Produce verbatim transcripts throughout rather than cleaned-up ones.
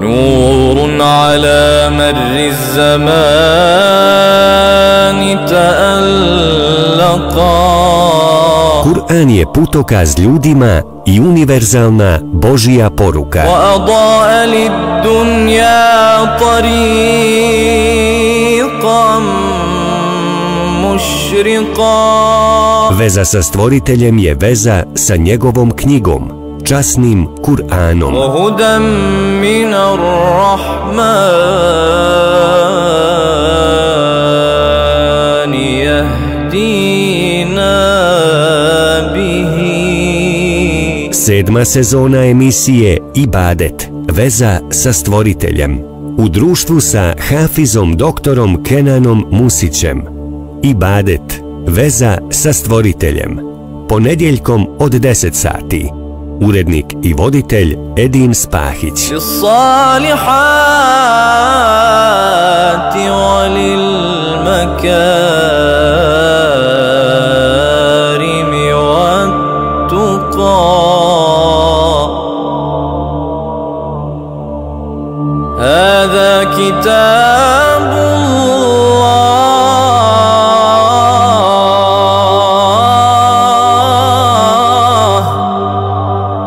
نور على مر الزمان تألقا. Kur'an je putokaz ljudima i univerzalna Božja poruka. وأضاء للدنيا طريقا مشرقا. Veza sa stvoriteljem je veza sa njegovom knjigom, časnim Kur'anom. وهدى من الرحمن يهدينا به. Sedma sezona emisije Ibadet, veza sa stvoriteljem. U društvu sa Hafizom doktorom Kenanom Musićem. Ibadet, veza sa stvoriteljem. Ponedjeljkom od deset sati. Urednik i voditelj Edin Spahić. هذا كتاب الله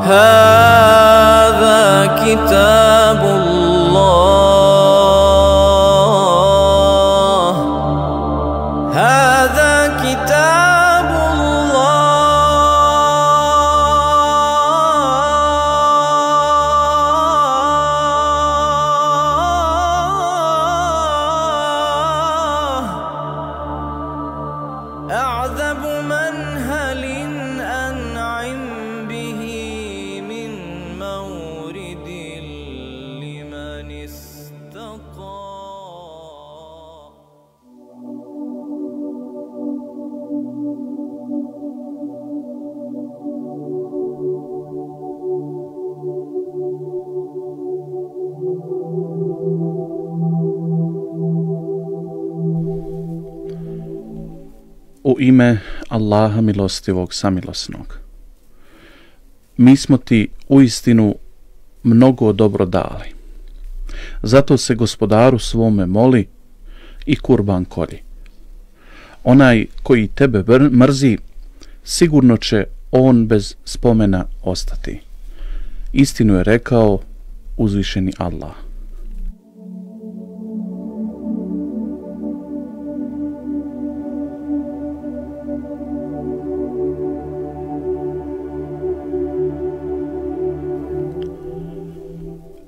هذا كتاب الله هذا كتاب أعذب منهل أنعم به من مورد لمن استقى. U ime Allaha milostivog samilosnog. Mi smo ti uistinu mnogo dobro dali. Zato se gospodaru svome moli i kurban kolji. Onaj koji tebe mrzi, sigurno će on bez spomena ostati. Istinu je rekao uzvišeni Allah.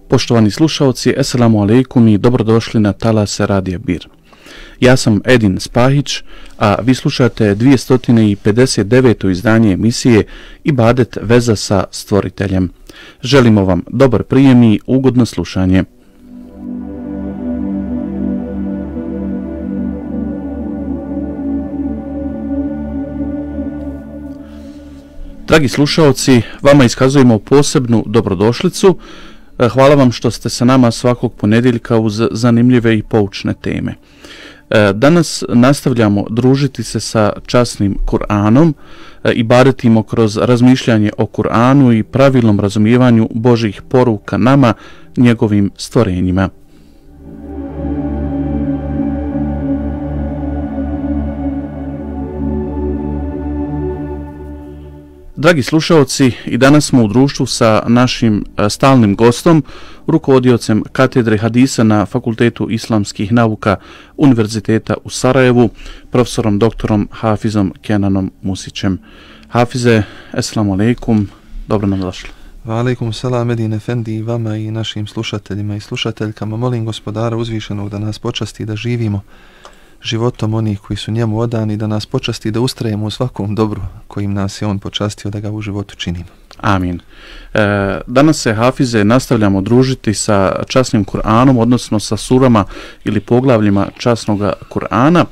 Poštovani slušalci, eselamu alejkum i dobrodošli na talase Radija Bir. Ja sam Edin Spahić, a vi slušate dvjesto pedeset deveto izdanje emisije Ibadet, veza sa stvoriteljem. Želimo vam dobar prijem i ugodno slušanje. Dragi slušalci, vama iskazujemo posebnu dobrodošlicu. Hvala vam što ste sa nama svakog ponedjeljka uz zanimljive i poučne teme. Danas nastavljamo družiti se sa časnim Kur'anom i badetimo kroz razmišljanje o Kur'anu i pravilnom razumijevanju Božjih poruka nama, njegovim stvorenjima. Dragi slušalci, i danas smo u društvu sa našim stalnim gostom, rukovodiocem katedre hadisa na Fakultetu islamskih nauka Univerziteta u Sarajevu, profesorom doktorom Hafizom Kenanom Musićem. Hafize, eselamu alejkum, dobro nam došli. Wa alaikum salam Edin Efendi i vama i našim slušateljima i slušateljkama. Molim gospodara uzvišenog da nas počasti da živimo životom onih koji su njemu odani, da nas počasti da ustrajemo u svakom dobru kojim nas je on počastio da ga u životu činimo. Amin. E, danas se, Hafize, nastavljamo družiti sa časnim Kur'anom, odnosno sa surama ili poglavljima časnog Kur'ana.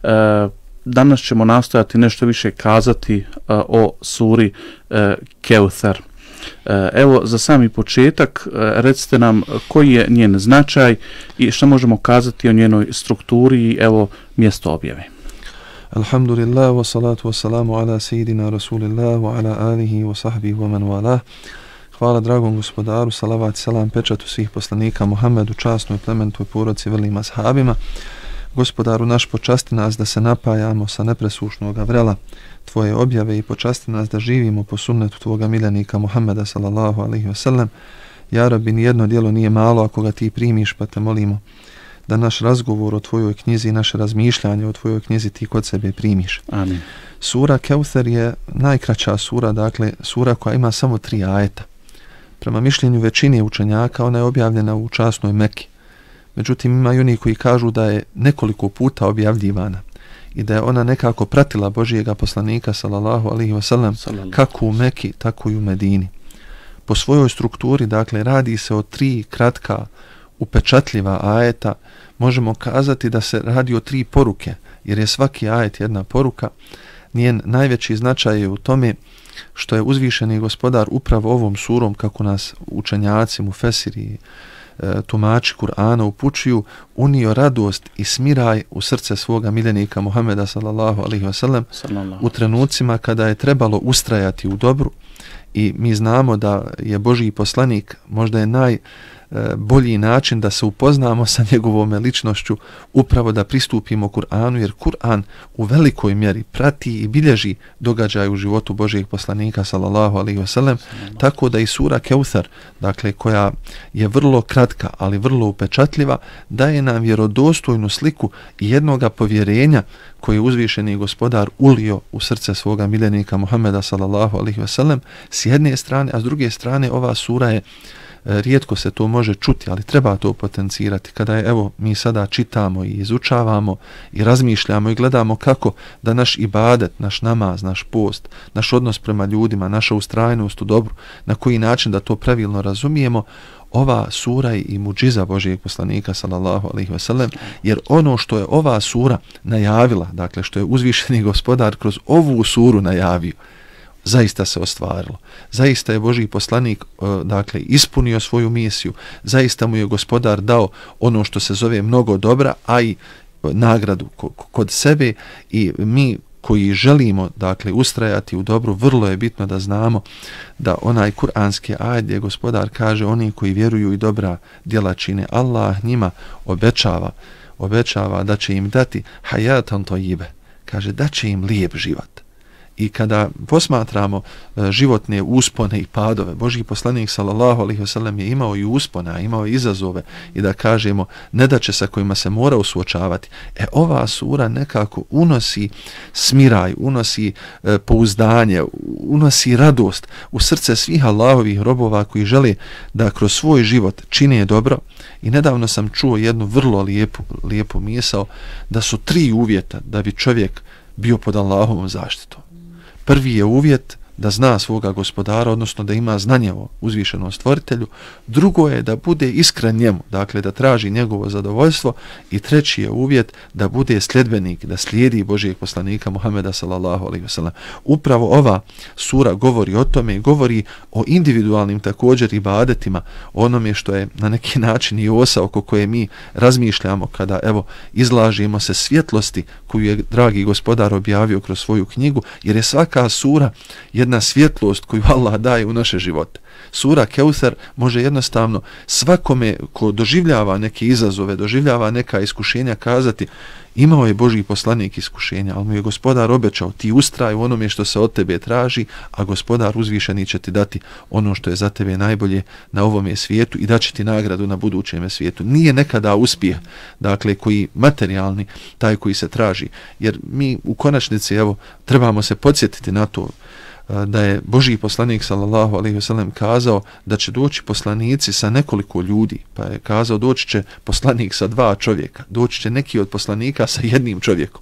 E, danas ćemo nastojati nešto više kazati e, o suri e, Keuthar. Evo, za sami početak, recite nam koji je njen značaj i što možemo kazati o njenoj strukturi i evo mjesto objave. Alhamdulillah, wa salatu wa salamu ala sejidina Rasulillah, wa ala alihi wa sahbihi wa man wala. Hvala dragom gospodaru, salavat, selam, pečatu svih poslanika Muhammedu, časnoj plementoj poroci, velim ashabima. Gospodaru naš, počasti nas da se napajamo sa nepresušnog vrela Tvoje objave i počasti nas da živimo po sunnetu Tvoga miljenika Muhammeda sallallahu alaihi wasallam. Ja Rabbi, nijedno djelo nije malo ako ga Ti primiš, pa te molimo da naš razgovor o Tvojoj knjizi i naše razmišljanje o Tvojoj knjizi Ti kod sebe primiš. Amin. Sura Keuther je najkraća sura, dakle sura koja ima samo tri ajeta. Prema mišljenju većine učenjaka ona je objavljena u časnoj Meki. Međutim, ima i oni koji kažu da je nekoliko puta objavljivana i da je ona nekako pratila Božijega poslanika sallallahu alaihi wasallam kako u Meki, tako i u Medini. Po svojoj strukturi, dakle, radi se o tri kratka upečatljiva ajeta. Možemo kazati da se radi o tri poruke, jer je svaki ajet jedna poruka. Njen najveći značaj je u tome što je uzvišeni gospodar upravo ovom surom, kako nas učenjaci, mufesiri, e, tumači Kur'ana upućuju, unio radost i smiraj u srce svoga miljenika Muhammeda sallallahu alaihi wasallam u trenucima kada je trebalo ustrajati u dobru. I mi znamo da je Božji poslanik, možda je naj bolji način da se upoznamo sa njegovom ličnošću, upravo da pristupimo Kur'anu, jer Kur'an u velikoj mjeri prati i bilježi događaj u životu Božijeg poslanika sallallahu alaihi wasallam, tako da i sura Keuther, dakle koja je vrlo kratka, ali vrlo upečatljiva, daje nam vjerodostojnu sliku jednoga povjerenja koji je uzvišeni gospodar ulio u srce svoga miljenika Muhammeda sallallahu alaihi wasallam s jedne strane, a s druge strane ova sura je, rijetko se to može čuti, ali treba to potencirati. Kada je, evo, mi sada čitamo i izučavamo i razmišljamo i gledamo kako da naš ibadet, naš namaz, naš post, naš odnos prema ljudima, naša ustrajnost u dobru, na koji način da to pravilno razumijemo, ova sura je i muđiza Božijeg poslanika sallallahu alaihi wasallam, jer ono što je ova sura najavila, dakle što je uzvišeni gospodar kroz ovu suru najavio, zaista se ostvarilo. Zaista je Božji poslanik dakle ispunio svoju misiju. Zaista mu je gospodar dao ono što se zove mnogo dobra, a i nagradu kod sebe, i mi koji želimo dakle ustrajati u dobru, vrlo je bitno da znamo da onaj kuranski ajet gdje gospodar kaže oni koji vjeruju i dobra djela čine, Allah njima obećava, obećava da će im dati hayatan tayyibe, kaže da će im lijep život. I kada posmatramo e, životne uspone i padove, Božji poslanik sallallahu alejhi ve sellem je imao i uspone, imao i izazove, i da kažemo nedaće sa kojima se mora suočavati. E ova sura nekako unosi smiraj, unosi e, pouzdanje, unosi radost u srce svih Allahovih robova koji žele da kroz svoj život čine dobro. I nedavno sam čuo jednu vrlo lijepu, lijepu misao da su tri uvjeta da bi čovjek bio pod Allahovom zaštitom. Prvi je uvjet da zna svoga gospodara, odnosno da ima znanje o uzvišenom stvoritelju. Drugo je da bude iskren njemu, dakle da traži njegovo zadovoljstvo. I treći je uvjet da bude sljedbenik, da slijedi Božijeg poslanika Muhameda sallallahu alejhi ve sellem. Upravo ova sura govori o tome i govori o individualnim također ibadetima, onome što je na neki način i osa oko koje mi razmišljamo kada evo izlažimo se svjetlosti koju je dragi gospodar objavio kroz svoju knjigu, jer je svaka sura jedna svjetlost koju Allah daje u naše živote. Sura Keuther može jednostavno svakome ko doživljava neke izazove, doživljava neka iskušenja kazati imao je Božji poslanik iskušenja, ali mu je gospodar obećao ti ustraj u onome što se od tebe traži, a gospodar uzvišeni će ti dati ono što je za tebe najbolje na ovome svijetu i daće ti nagradu na budućem svijetu. Nije nekada uspjeh, dakle koji materijalni, taj koji se traži, jer mi u konačnici evo trebamo se podsjetiti na to da je Božji poslanik sallallahu alejhi ve sellem kazao da će doći poslanici sa nekoliko ljudi, pa je kazao doći će poslanik sa dva čovjeka, doći će neki od poslanika sa jednim čovjekom.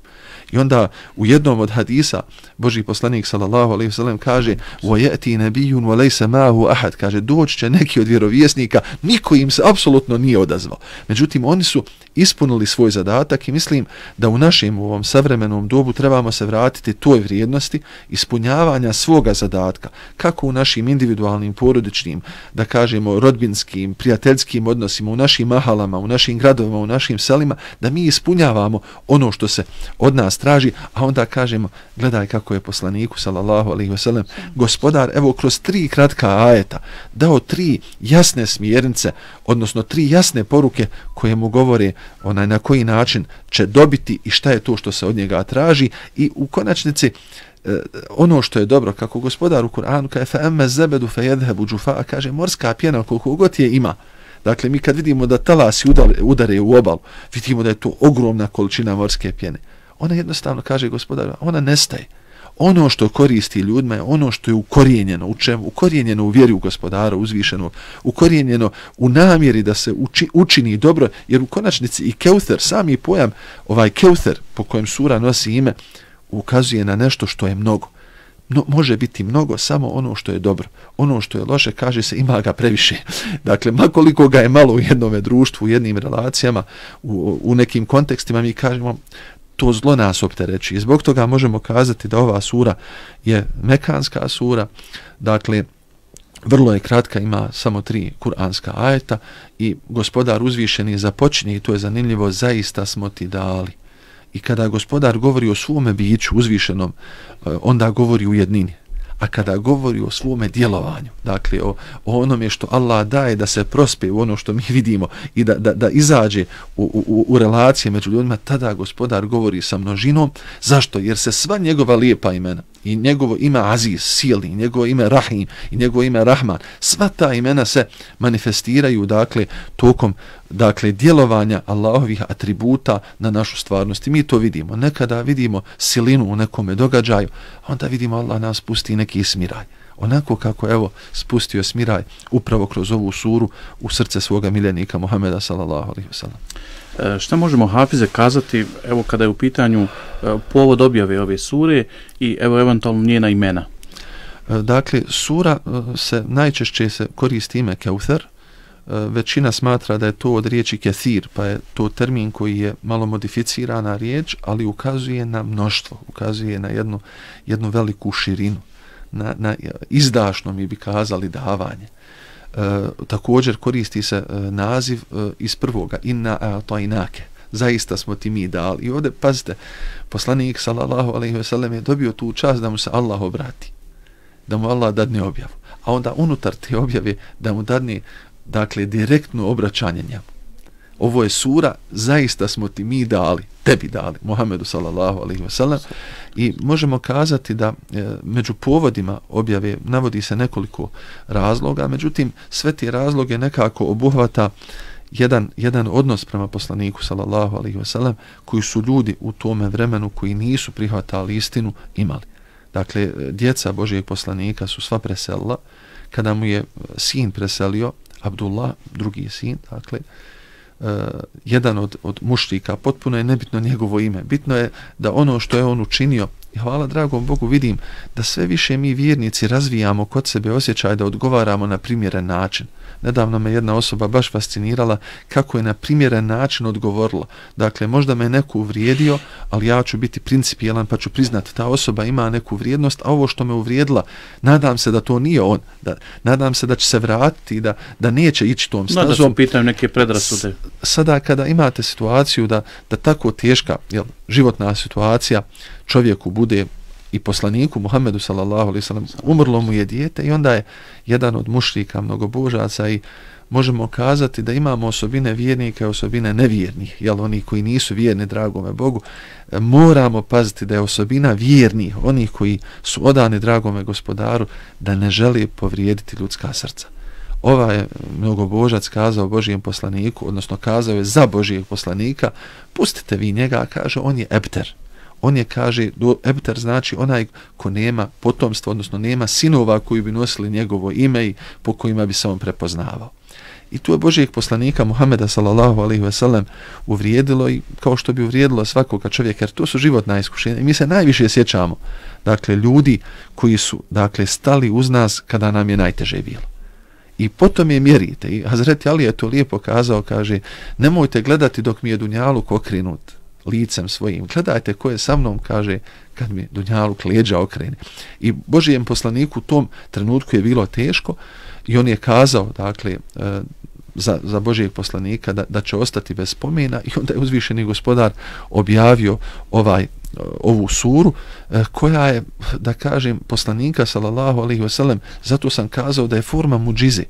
I onda u jednom od hadisa Božji poslanik sallallahu alejhi ve sellem kaže wa yati nabiyyun wa laysa ma'ahu ahad, kaže doći će neki od vjerovjesnika, niko im se apsolutno nije odazvao. Međutim oni su ispunili svoj zadatak i mislim da u našem u ovom savremenom dobu trebamo se vratiti toj vrijednosti ispunjavanja svoga zadatka, kako u našim individualnim, porodičnim, da kažemo rodbinskim, prijateljskim odnosima, u našim mahalama, u našim gradovima, u našim selima, da mi ispunjavamo ono što se od nas traži, a onda kažemo, gledaj kako je poslaniku sallallahu alejhi ve sellem gospodar evo kroz tri kratka ajeta dao tri jasne smjernice, odnosno tri jasne poruke koje mu govore onaj na koji način će dobiti i šta je to što se od njega traži. I u konačnici ono što je dobro, kako gospodar u Kur'anu kaže fa amma zabadu fa yadhhabu jufa, kaže morska pjena koliko god je ima. Dakle, mi kad vidimo da talasi udare, udare u obalu, vidimo da je to ogromna količina morske pjene. Ona jednostavno, kaže gospodar, ona nestaje. Ono što koristi ljudima je ono što je ukorijenjeno u čemu? Ukorijenjeno u vjeri u gospodara uzvišenog, ukorijenjeno u namjeri da se uči, učini dobro, jer u konačnici i Keuther, sami pojam ovaj Keuther po kojem sura nosi ime, ukazuje na nešto što je mnogo. No, može biti mnogo samo ono što je dobro. Ono što je loše, kaže se, ima ga previše. Dakle, makoliko ga je malo u jednom društvu, u jednim relacijama, u, u nekim kontekstima, mi kažemo to zlo nas optereći. Zbog toga možemo kazati da ova sura je mekanska sura, dakle, vrlo je kratka, ima samo tri kuranska ajeta i gospodar uzvišeni započinje, i to je zanimljivo, zaista smo ti dali. I kada gospodar govori o svome biću uzvišenom, onda govori u jednini. A kada govori o svome djelovanju, dakle o, o onome što Allah daje da se prospe u ono što mi vidimo i da, da, da izađe u, u, u relacije među ljudima, tada gospodar govori sa množinom. Zašto? Jer se sva njegova lijepa imena i njegovo ime Aziz, silni, i njegovo ime Rahim i njegovo ime Rahman, sva ta imena se manifestiraju dakle tokom dakle djelovanja Allahovih atributa na našu stvarnost. I mi to vidimo. Nekada vidimo silinu u nekome događaju, a onda vidimo Allah nas pusti neki smiraj. Onako kako evo spustio smiraj upravo kroz ovu suru u srce svoga miljenika Muhameda sallallahu alejhi ve sellem. E, šta možemo, Hafize, kazati evo kada je u pitanju e, povod objave ove sure i evo eventualno njena imena? E, dakle, sura e, se najčešće se koristi ime Keuther. Većina smatra da je to od riječi kethir, pa je to termin koji je malo modificirana riječ, ali ukazuje na mnoštvo, ukazuje na jednu, jednu veliku širinu, na, na izdašno mi bi kazali davanje. E, također koristi se e, naziv e, iz prvoga, inna a'tainake, zaista smo ti mi dali. I ovdje, pazite, poslanik sallallahu alejhi ve sellem je dobio tu čast da mu se Allah obrati, da mu Allah dadne objavu, a onda unutar te objave da mu dadne dakle direktno obraćanje njemu. Ovo je sura, zaista smo ti mi dali, tebi dali, Muhammedu sallallahu alejhi ve sellem, i možemo kazati da e, među povodima objave navodi se nekoliko razloga, međutim sve te razloge nekako obuhvata jedan, jedan odnos prema poslaniku sallallahu alejhi ve sellem koji su ljudi u tome vremenu koji nisu prihvatali istinu imali. Dakle, djeca Božijeg poslanika su sva preselila. Kada mu je sin preselio, Abdullah, drugi sin, dakle, uh, jedan od, od mušrika, potpuno je nebitno njegovo ime. Bitno je da ono što je on učinio, i hvala dragom Bogu vidim da sve više mi vjernici razvijamo kod sebe osjećaj da odgovaramo na primjeren način. Nedavno me jedna osoba baš fascinirala kako je na primjeren način odgovorila. Dakle, možda me neko uvrijedio, ali ja ću biti principijelan pa ću priznati ta osoba ima neku vrijednost, a ovo što me uvrijedila, nadam se da to nije on. Da, nadam se da će se vratiti i da, da neće ići tom stazom. Da su pitaju neke predrasude. Sada kada imate situaciju da, da tako teška jel, životna situacija čovjeku bude i poslaniku Muhammedu sallallahu alejhi ve sellem umrlo mu je dijete i onda je jedan od mušrika mnogobožaca i možemo kazati da imamo osobine vjernika i osobine nevjernih, jel oni koji nisu vjerni dragome Bogu, moramo paziti da je osobina vjernih, onih koji su odani dragome gospodaru, da ne želi povrijediti ljudska srca. Ova je mnogobožac kazao Božijem poslaniku, odnosno kazao je za Božijeg poslanika, pustite vi njega, kaže on je ebter. On je, kaže, do ebter znači onaj ko nema potomstva, odnosno nema sinova koji bi nosili njegovo ime i po kojima bi se on prepoznavao. I tu je Božijeg poslanika Muhameda sallallahu alejhi ve sellem uvrijedilo i kao što bi uvrijedilo svakoga čovjeka, jer to su životna iskušenja. I mi se najviše sjećamo, dakle, ljudi koji su, dakle, stali uz nas kada nam je najteže bilo. I potom je mjerite. I Hazreti Ali je to lijepo kazao, kaže, nemojte gledati dok mi je dunjaluk okrenut licem svojim. Gledajte ko je sa mnom, kaže, kad mi dunjaluk leđa okrene. I Božijem poslaniku u tom trenutku je bilo teško i on je kazao, dakle, e, za, za Božijeg poslanika da, da će ostati bez spomena i onda je uzvišeni gospodar objavio ovaj ovu suru koja je, da kažem, poslanika sallallahu alejhi ve sellem, zato sam kazao da je forma muđize.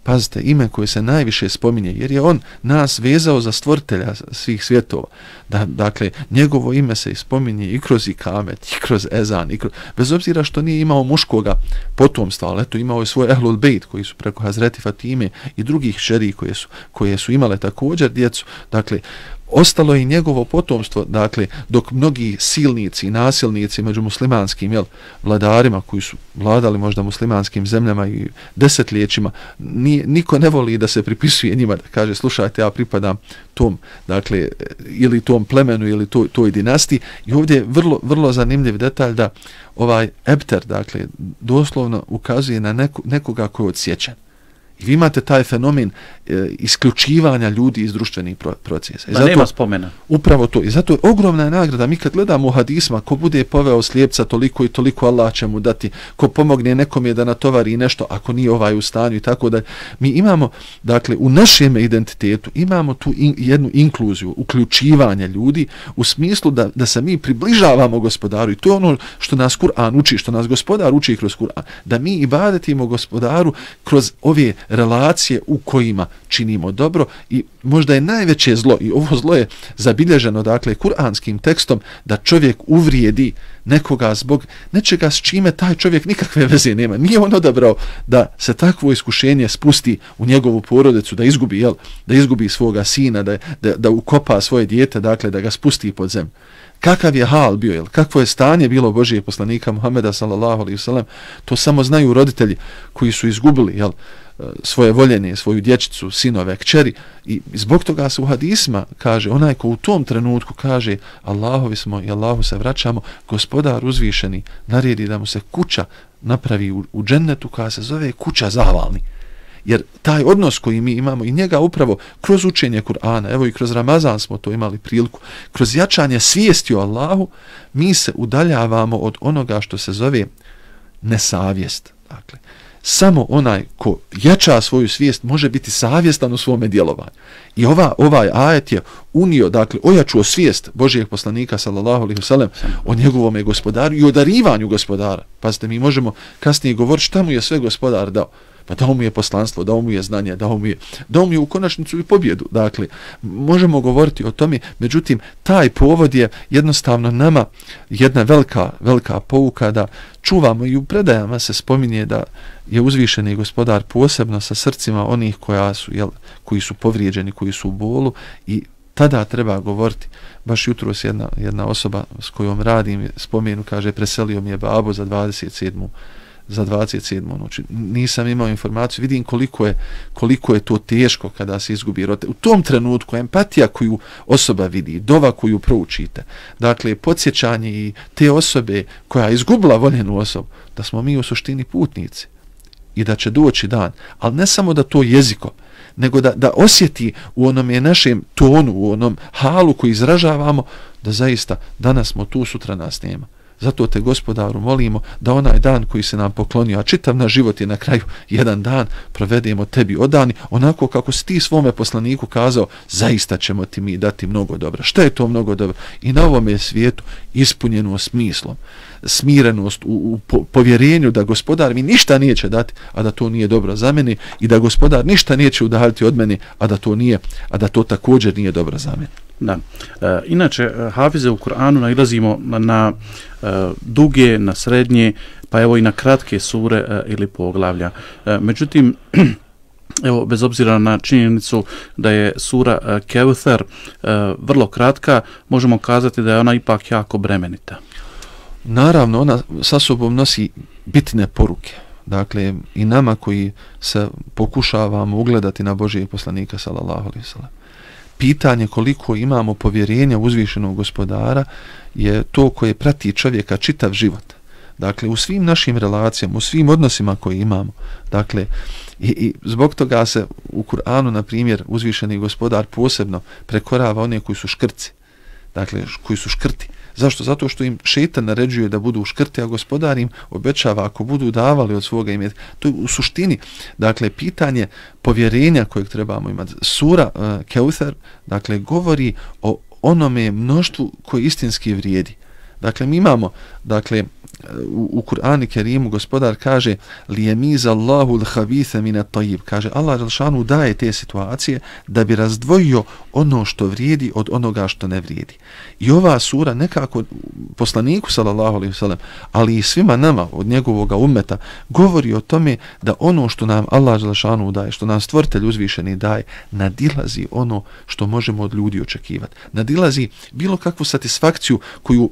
Pazite, ime koje se najviše spominje, jer je on nas vezao za stvoritelja svih svjetova. Da, dakle, njegovo ime se spominje i kroz ikamet, i kroz ezan, i kroz, bez obzira što nije imao muškoga potomstva, ali eto imao je svoj ehlul bejt koji su preko Hazreti Fatime i drugih šeri koje su, koje su imale također djecu. Dakle, ostalo je i njegovo potomstvo, dakle, dok mnogi silnici i nasilnici među muslimanskim jel, vladarima koji su vladali možda muslimanskim zemljama i desetljećima, ni, niko ne voli da se pripisuje njima, da kaže, slušajte, ja pripadam tom, dakle, ili tom plemenu ili toj, toj dinastiji. I ovdje je vrlo, vrlo zanimljiv detalj da ovaj ebter, dakle, doslovno ukazuje na neku, nekoga koji je odsječen. I vi imate taj fenomen e, isključivanja ljudi iz društvenih pro, procesa. I zato, nema spomena. Upravo to. I zato je ogromna nagrada. Mi kad gledamo u hadisma, ko bude poveo slijepca toliko i toliko, Allah će mu dati. Ko pomogne nekom je da natovari nešto, ako nije ovaj u stanju i tako da. Mi imamo, dakle, u našem identitetu imamo tu in, jednu inkluziju, uključivanje ljudi u smislu da, da se mi približavamo gospodaru. I to je ono što nas Kur'an uči, što nas gospodar uči kroz Kur'an. Da mi ibadetimo gospodaru kroz ove relacije u kojima činimo dobro. I možda je najveće zlo, i ovo zlo je zabilježeno, dakle, kuranskim tekstom, da čovjek uvrijedi nekoga zbog nečega s čime taj čovjek nikakve veze nema. Nije on odabrao da se takvo iskušenje spusti u njegovu porodicu, da izgubi, jel, da izgubi svoga sina, da, da, da ukopa svoje dijete, dakle, da ga spusti pod zemlju. Kakav je hal bio, jel? Kakvo je stanje bilo Božijeg poslanika Muhameda sallallahu alejhi ve sellem, to samo znaju roditelji koji su izgubili, jel, svoje voljene, svoju dječicu, sinove, kćeri. I zbog toga se u hadisma kaže, onaj ko u tom trenutku kaže Allahovi smo i Allahu se vraćamo, gospodar uzvišeni naredi da mu se kuća napravi u, u džennetu koja se zove kuća zahvalni. Jer taj odnos koji mi imamo i njega upravo kroz učenje Kur'ana, evo i kroz Ramazan smo to imali priliku, kroz jačanje svijesti o Allahu, mi se udaljavamo od onoga što se zove nesavjest. Dakle, samo onaj ko jača svoju svijest može biti savjestan u svome djelovanju. I ova, ovaj ajet je unio, dakle, ojačuo svijest Božijeg poslanika sallallahu alejhi ve sellem o njegovom gospodaru i o darivanju gospodara. Pazite, mi možemo kasnije govoriti šta mu je sve gospodar dao. Pa dao mu je poslanstvo, dao mu je znanje, dao mu je, dao mu je u konačnicu i pobjedu. Dakle, možemo govoriti o tome, međutim, taj povod je jednostavno nama jedna velika, velika pouka da čuvamo, i u predajama se spominje da je uzvišeni gospodar posebno sa srcima onih koja su, jel, koji su povrijeđeni, koji su u bolu, i tada treba govoriti. Baš jutros jedna, jedna osoba s kojom radim spomenu, kaže, preselio mi je babo za dvadeset sedmu za dvadeset sedmu noći. Nisam imao informaciju, vidim koliko je, koliko je to teško kada se izgubi roditelj. U tom trenutku empatija koju osoba vidi, dova koju proučite, dakle, podsjećanje i te osobe koja je izgubila voljenu osobu, da smo mi u suštini putnici i da će doći dan, ali ne samo da to jezikom, nego da, da osjeti u onom je našem tonu, u onom halu koji izražavamo, da zaista danas smo tu, sutra nas nema. Zato te, gospodaru, molimo da onaj dan koji se nam poklonio, a čitav naš život je na kraju jedan dan, provedemo tebi odani, onako kako si ti svome poslaniku kazao, zaista ćemo ti mi dati mnogo dobra. Šta je to mnogo dobro? I na ovome svijetu ispunjeno smislom, smirenost u, u povjerenju da gospodar mi ništa neće dati, a da to nije dobro za mene, i da gospodar ništa neće udaljiti od mene, a da to nije, a da to također nije dobro za mene. Da. E, inače, hafize u Kur'anu nailazimo na, na e, duge, na srednje, pa evo i na kratke sure e, ili poglavlja. E, međutim, evo, bez obzira na činjenicu da je sura e, Kevther e, vrlo kratka, možemo kazati da je ona ipak jako bremenita. Naravno, ona sa sobom nosi bitne poruke. Dakle, i nama koji se pokušavamo ugledati na Božijeg poslanika sallallahu alejhi ve sellem. Pitanje koliko imamo povjerenja uzvišenog gospodara je to koje prati čovjeka čitav život. Dakle, u svim našim relacijama, u svim odnosima koje imamo. Dakle, i, i zbog toga se u Kur'anu, na primjer, uzvišeni gospodar posebno prekorava one koji su škrci. Dakle, koji su škrti. Zašto? Zato što im šejtan naređuje da budu škrti, a gospodar im obećava ako budu davali od svoga imetka. To je u suštini, dakle, pitanje povjerenja kojeg trebamo imati. Sura uh, Kevther, dakle, govori o onome mnoštvu koje istinski vrijedi. Dakle, mi imamo, dakle, u, u Kur'anu Kerimu gospodar kaže lijemiz Allahu l-habitha min at-tayyib, kaže Allah dželešanu daje te situacije da bi razdvojio ono što vrijedi od onoga što ne vrijedi. I ova sura nekako poslaniku sallallahu alejhi ve sellem, ali i svima nama od njegovog ummeta govori o tome da ono što nam Allah dželešanu daje, što nam stvoritelj uzvišeni daje, nadilazi ono što možemo od ljudi očekivati. Nadilazi bilo kakvu satisfakciju koju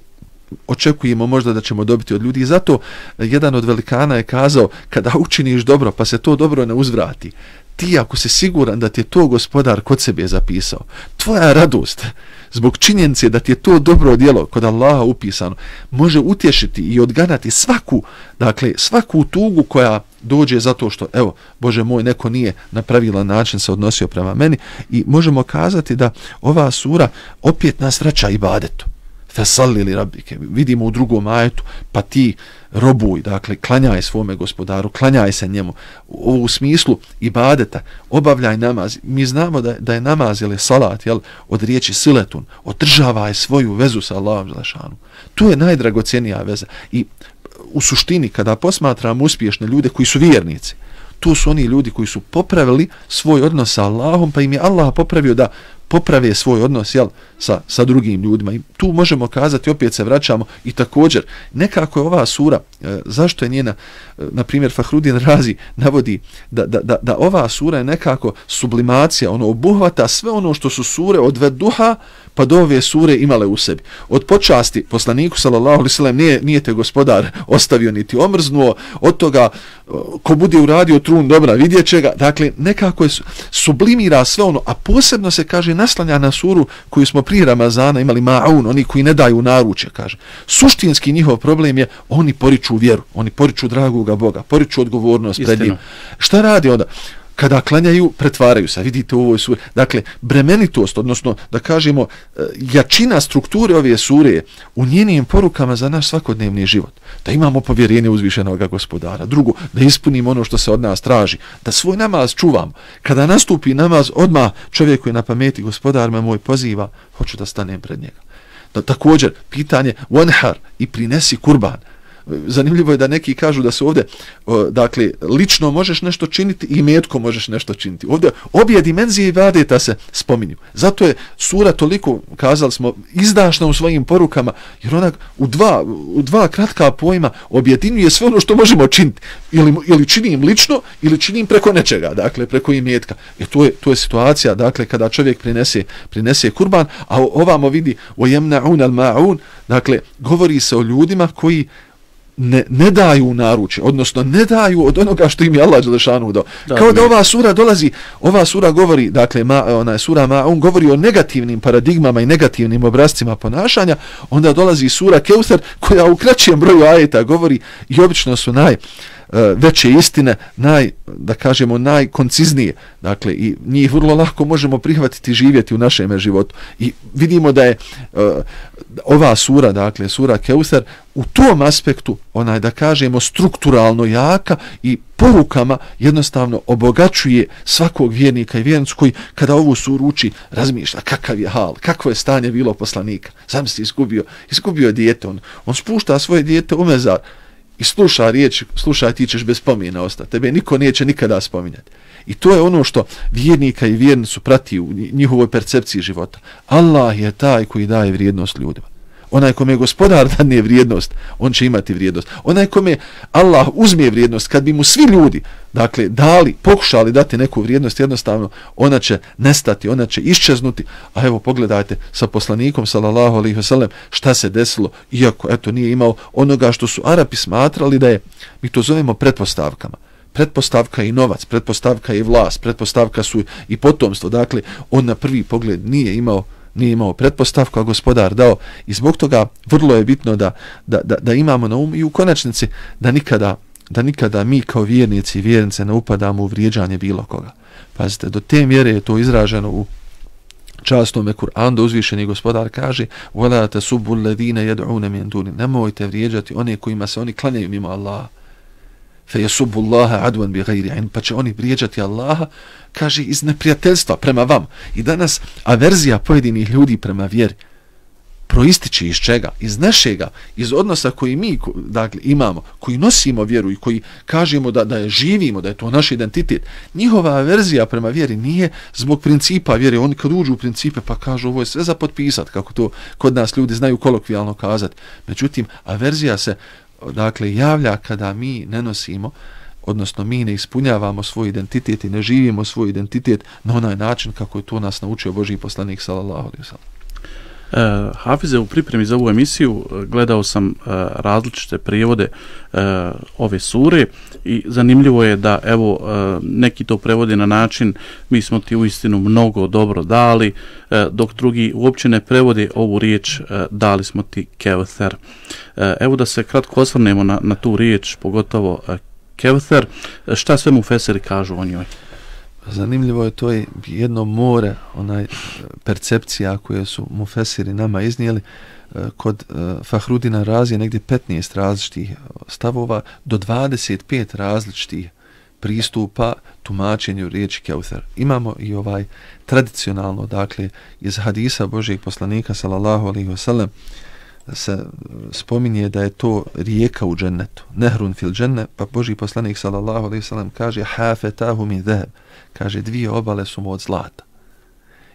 očekujemo možda da ćemo dobiti od ljudi. I zato jedan od velikana je kazao, kada učiniš dobro pa se to dobro ne uzvrati, ti ako si siguran da ti je to gospodar kod sebe zapisao, tvoja radost zbog činjenice da ti je to dobro djelo kod Allaha upisano može utješiti i odganati svaku, dakle svaku tugu koja dođe zato što, evo, Bože moj, neko nije na pravilan način se odnosio prema meni. I možemo kazati da ova sura opet nas vraća ibadetu. Fesalli li rabbike, vidimo u drugom ajetu, pa ti robuj, dakle, klanjaj svome gospodaru, klanjaj se njemu. U, u smislu ibadeta, obavljaj namaz. Mi znamo da, da je namaz ili salat, jel, od riječi siletun, održavaj svoju vezu sa Allahom dželešanu. Tu je najdragocjenija veza. I u suštini, kada posmatramo uspješne ljude koji su vjernici, tu su oni ljudi koji su popravili svoj odnos sa Allahom, pa im je Allah popravio da poprave svoj odnos, jel, sa, sa drugim ljudima. I tu možemo kazati, opet se vraćamo i također, nekako je ova sura, e, zašto je njena, e, na primjer Fahrudin Razi navodi da, da, da, da ova sura je nekako sublimacija, ono obuhvata sve ono što su sure od Vedduha pa do ove sure imale u sebi. Od počasti poslaniku sallallahu alejhi ve sellem nije, nije te gospodar ostavio niti omrznuo, od toga ko bude uradio trun dobra vidjet će ga. Dakle, nekako je sublimira sve ono, a posebno se kaže naslanja na suru koju smo prije Ramazana imali ma'un, oni koji ne daju naručje, kaže. Suštinski njihov problem je oni poriču vjeru, oni poriču dragoga Boga, poriču odgovornost pred njim. Šta radi onda? Kada klanjaju, pretvaraju se, vidite u ovoj suri. Dakle, bremenitost, odnosno da kažemo jačina strukture ove sure u njenim porukama za naš svakodnevni život. Da imamo povjerenje uzvišenog gospodara. Drugo, da ispunimo ono što se od nas traži. Da svoj namaz čuvamo. Kada nastupi namaz, odmah čovjek koji na pameti, gospodar me moj poziva, hoću da stanem pred njega. Da, također, pitanje wanhar i prinesi kurban. Zanimljivo je da neki kažu da se ovdje, dakle, lično možeš nešto činiti i metko možeš nešto činiti. Ovdje obje dimenzije ibadeta se spominju. Zato je sura toliko, kazali smo, izdašna u svojim porukama, jer ona u dva, u dva kratka pojma objedinjuje sve ono što možemo činiti. Ili, ili činim lično, ili činim preko nečega, dakle, preko imetka. I to je, to je situacija, dakle, kada čovjek prinese, prinese kurban, a ovamo vidi o jemna'un al-ma'un, dakle, govori se o ljudima koji Ne, ne daju naručje, odnosno ne daju od onoga što im je Allah dželešanu dao. Da, kao da ova sura dolazi, ova sura govori, dakle, ma, ona je sura Ma, on govori o negativnim paradigmama i negativnim obrazcima ponašanja, onda dolazi sura Keusar koja u kraćem broju ajeta govori i obično su naj veće istine, naj, da kažemo, najkonciznije. Dakle, i njih vrlo lako možemo prihvatiti i živjeti u našem životu. I vidimo da je uh, ova sura, dakle, sura Keusar, u tom aspektu, onaj, da kažemo, strukturalno jaka i porukama jednostavno obogaćuje svakog vjernika i vjernicu koji kada ovu suru uči razmišlja kakav je hal, kakvo je stanje bilo poslanika. Zamisli, izgubio, izgubio dijete, on, on spušta svoje dijete u mezar i sluša riječ, slušaj, ti ćeš bez spomena ostati. Tebe niko neće nikada spominjati. I to je ono što vjernika i vjernicu prati u njihovoj percepciji života. Allah je taj koji daje vrijednost ljudima. Onaj kome gospodar dadne vrijednost, on će imati vrijednost. Onaj kome Allah uzme vrijednost, kad bi mu svi ljudi, dakle, dali, pokušali dati neku vrijednost, jednostavno ona će nestati, ona će iščeznuti. A evo, pogledajte sa poslanikom, sallallahu alejhi ve sellem, šta se desilo, iako, eto, nije imao onoga što su Arapi smatrali da je, mi to zovemo pretpostavkama. Pretpostavka je i novac, pretpostavka je i vlast, pretpostavka su i potomstvo. Dakle, on na prvi pogled nije imao nije imao pretpostavku, a gospodar dao, i zbog toga vrlo je bitno da, da, da, da imamo na umu i u konačnici da nikada, da nikada mi kao vjernici i vjernice ne upadamo u vrijeđanje bilo koga. Pazite, do te mjere je to izraženo u častome Kur'anu, da uzvišeni gospodar kaže وَلَا تَسُبُّ الَّذِينَ يَدْعُونَ مِنْ دُونِ, nemojte vrijeđati one kojima se oni klanjaju mimo Allaha. فَيَسُبُّ اللَّهَ عَدْوًا بِغَيْرِ عِنْ, pa će oni vrijeđati Allaha, kaže, iz neprijateljstva prema vam. I danas averzija pojedinih ljudi prema vjeri, proističe iz čega? Iz našega, iz odnosa koji mi dakle, imamo, koji nosimo vjeru i koji kažemo da, da je živimo, da je to naš identitet. Njihova averzija prema vjeri nije zbog principa vjere. Oni kad uđu u principe pa kažu ovo je sve za potpisat, kako to kod nas ljudi znaju kolokvijalno kazati. Međutim, averzija se dakle, javlja kada mi ne nosimo, odnosno mi ne ispunjavamo svoj identitet i ne živimo svoj identitet na onaj način kako je to nas naučio Božji poslanik sallallahu alejhi ve sellem. Uh, Hafize, u pripremi za ovu emisiju gledao sam uh, različite prijevode uh, ove sure i zanimljivo je da evo uh, neki to prevode na način mi smo ti uistinu mnogo dobro dali, uh, dok drugi uopće ne prevode ovu riječ uh, dali smo ti Kevther. Uh, evo da se kratko osvrnemo na, na tu riječ, pogotovo uh, Kevther. Šta sve mufesiri kažu o njoj? Zanimljivo je to je jedno more onaj percepcija koje su mufesiri nama iznijeli. Kod Fahrudina Razije negdje petnaest različitih stavova do dvadeset pet različitih pristupa tumačenju riječi Kevther. Imamo i ovaj tradicionalno, dakle, iz hadisa Božjeg poslanika sallallahu alejhi ve sellem se spominje da je to rijeka u džennetu, nehrun fil dženne, pa Božji poslanik sallallahu alejhi ve sellem kaže hafetahu min zahab, kaže dvije obale su mu od zlata.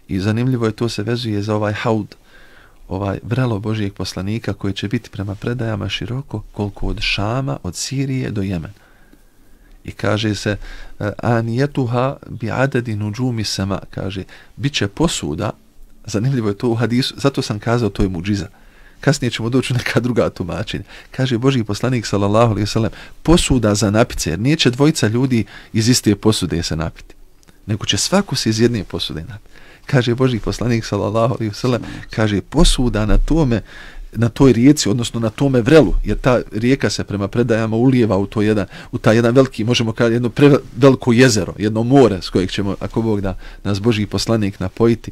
I zanimljivo je to se vezuje za ovaj haud, ovaj vrelo Božjeg poslanika koji će biti prema predajama široko koliko od Šama, od Sirije do Jemena. I kaže se anijetuha bi adedi nuđumi sama, kaže biće posuda, zanimljivo je to u hadisu, zato sam kazao to je muđiza. Kasnije ćemo doći u neka druga tumačenja. Kaže Božji poslanik sallallahu alejhi ve sellem posuda za napice, jer neće dvojica ljudi iz iste posude se napiti, nego će svako se iz jedne posude napiti. Kaže Božji poslanik sallallahu alejhi ve sellem, kaže posuda na tome, na toj rijeci, odnosno na tome vrelu, jer ta rijeka se prema predajama ulijeva u to jedan, u taj jedan veliki, možemo kazati jedno pre, veliko jezero, jedno more s kojeg ćemo, ako Bog da, nas Božji poslanik napojiti.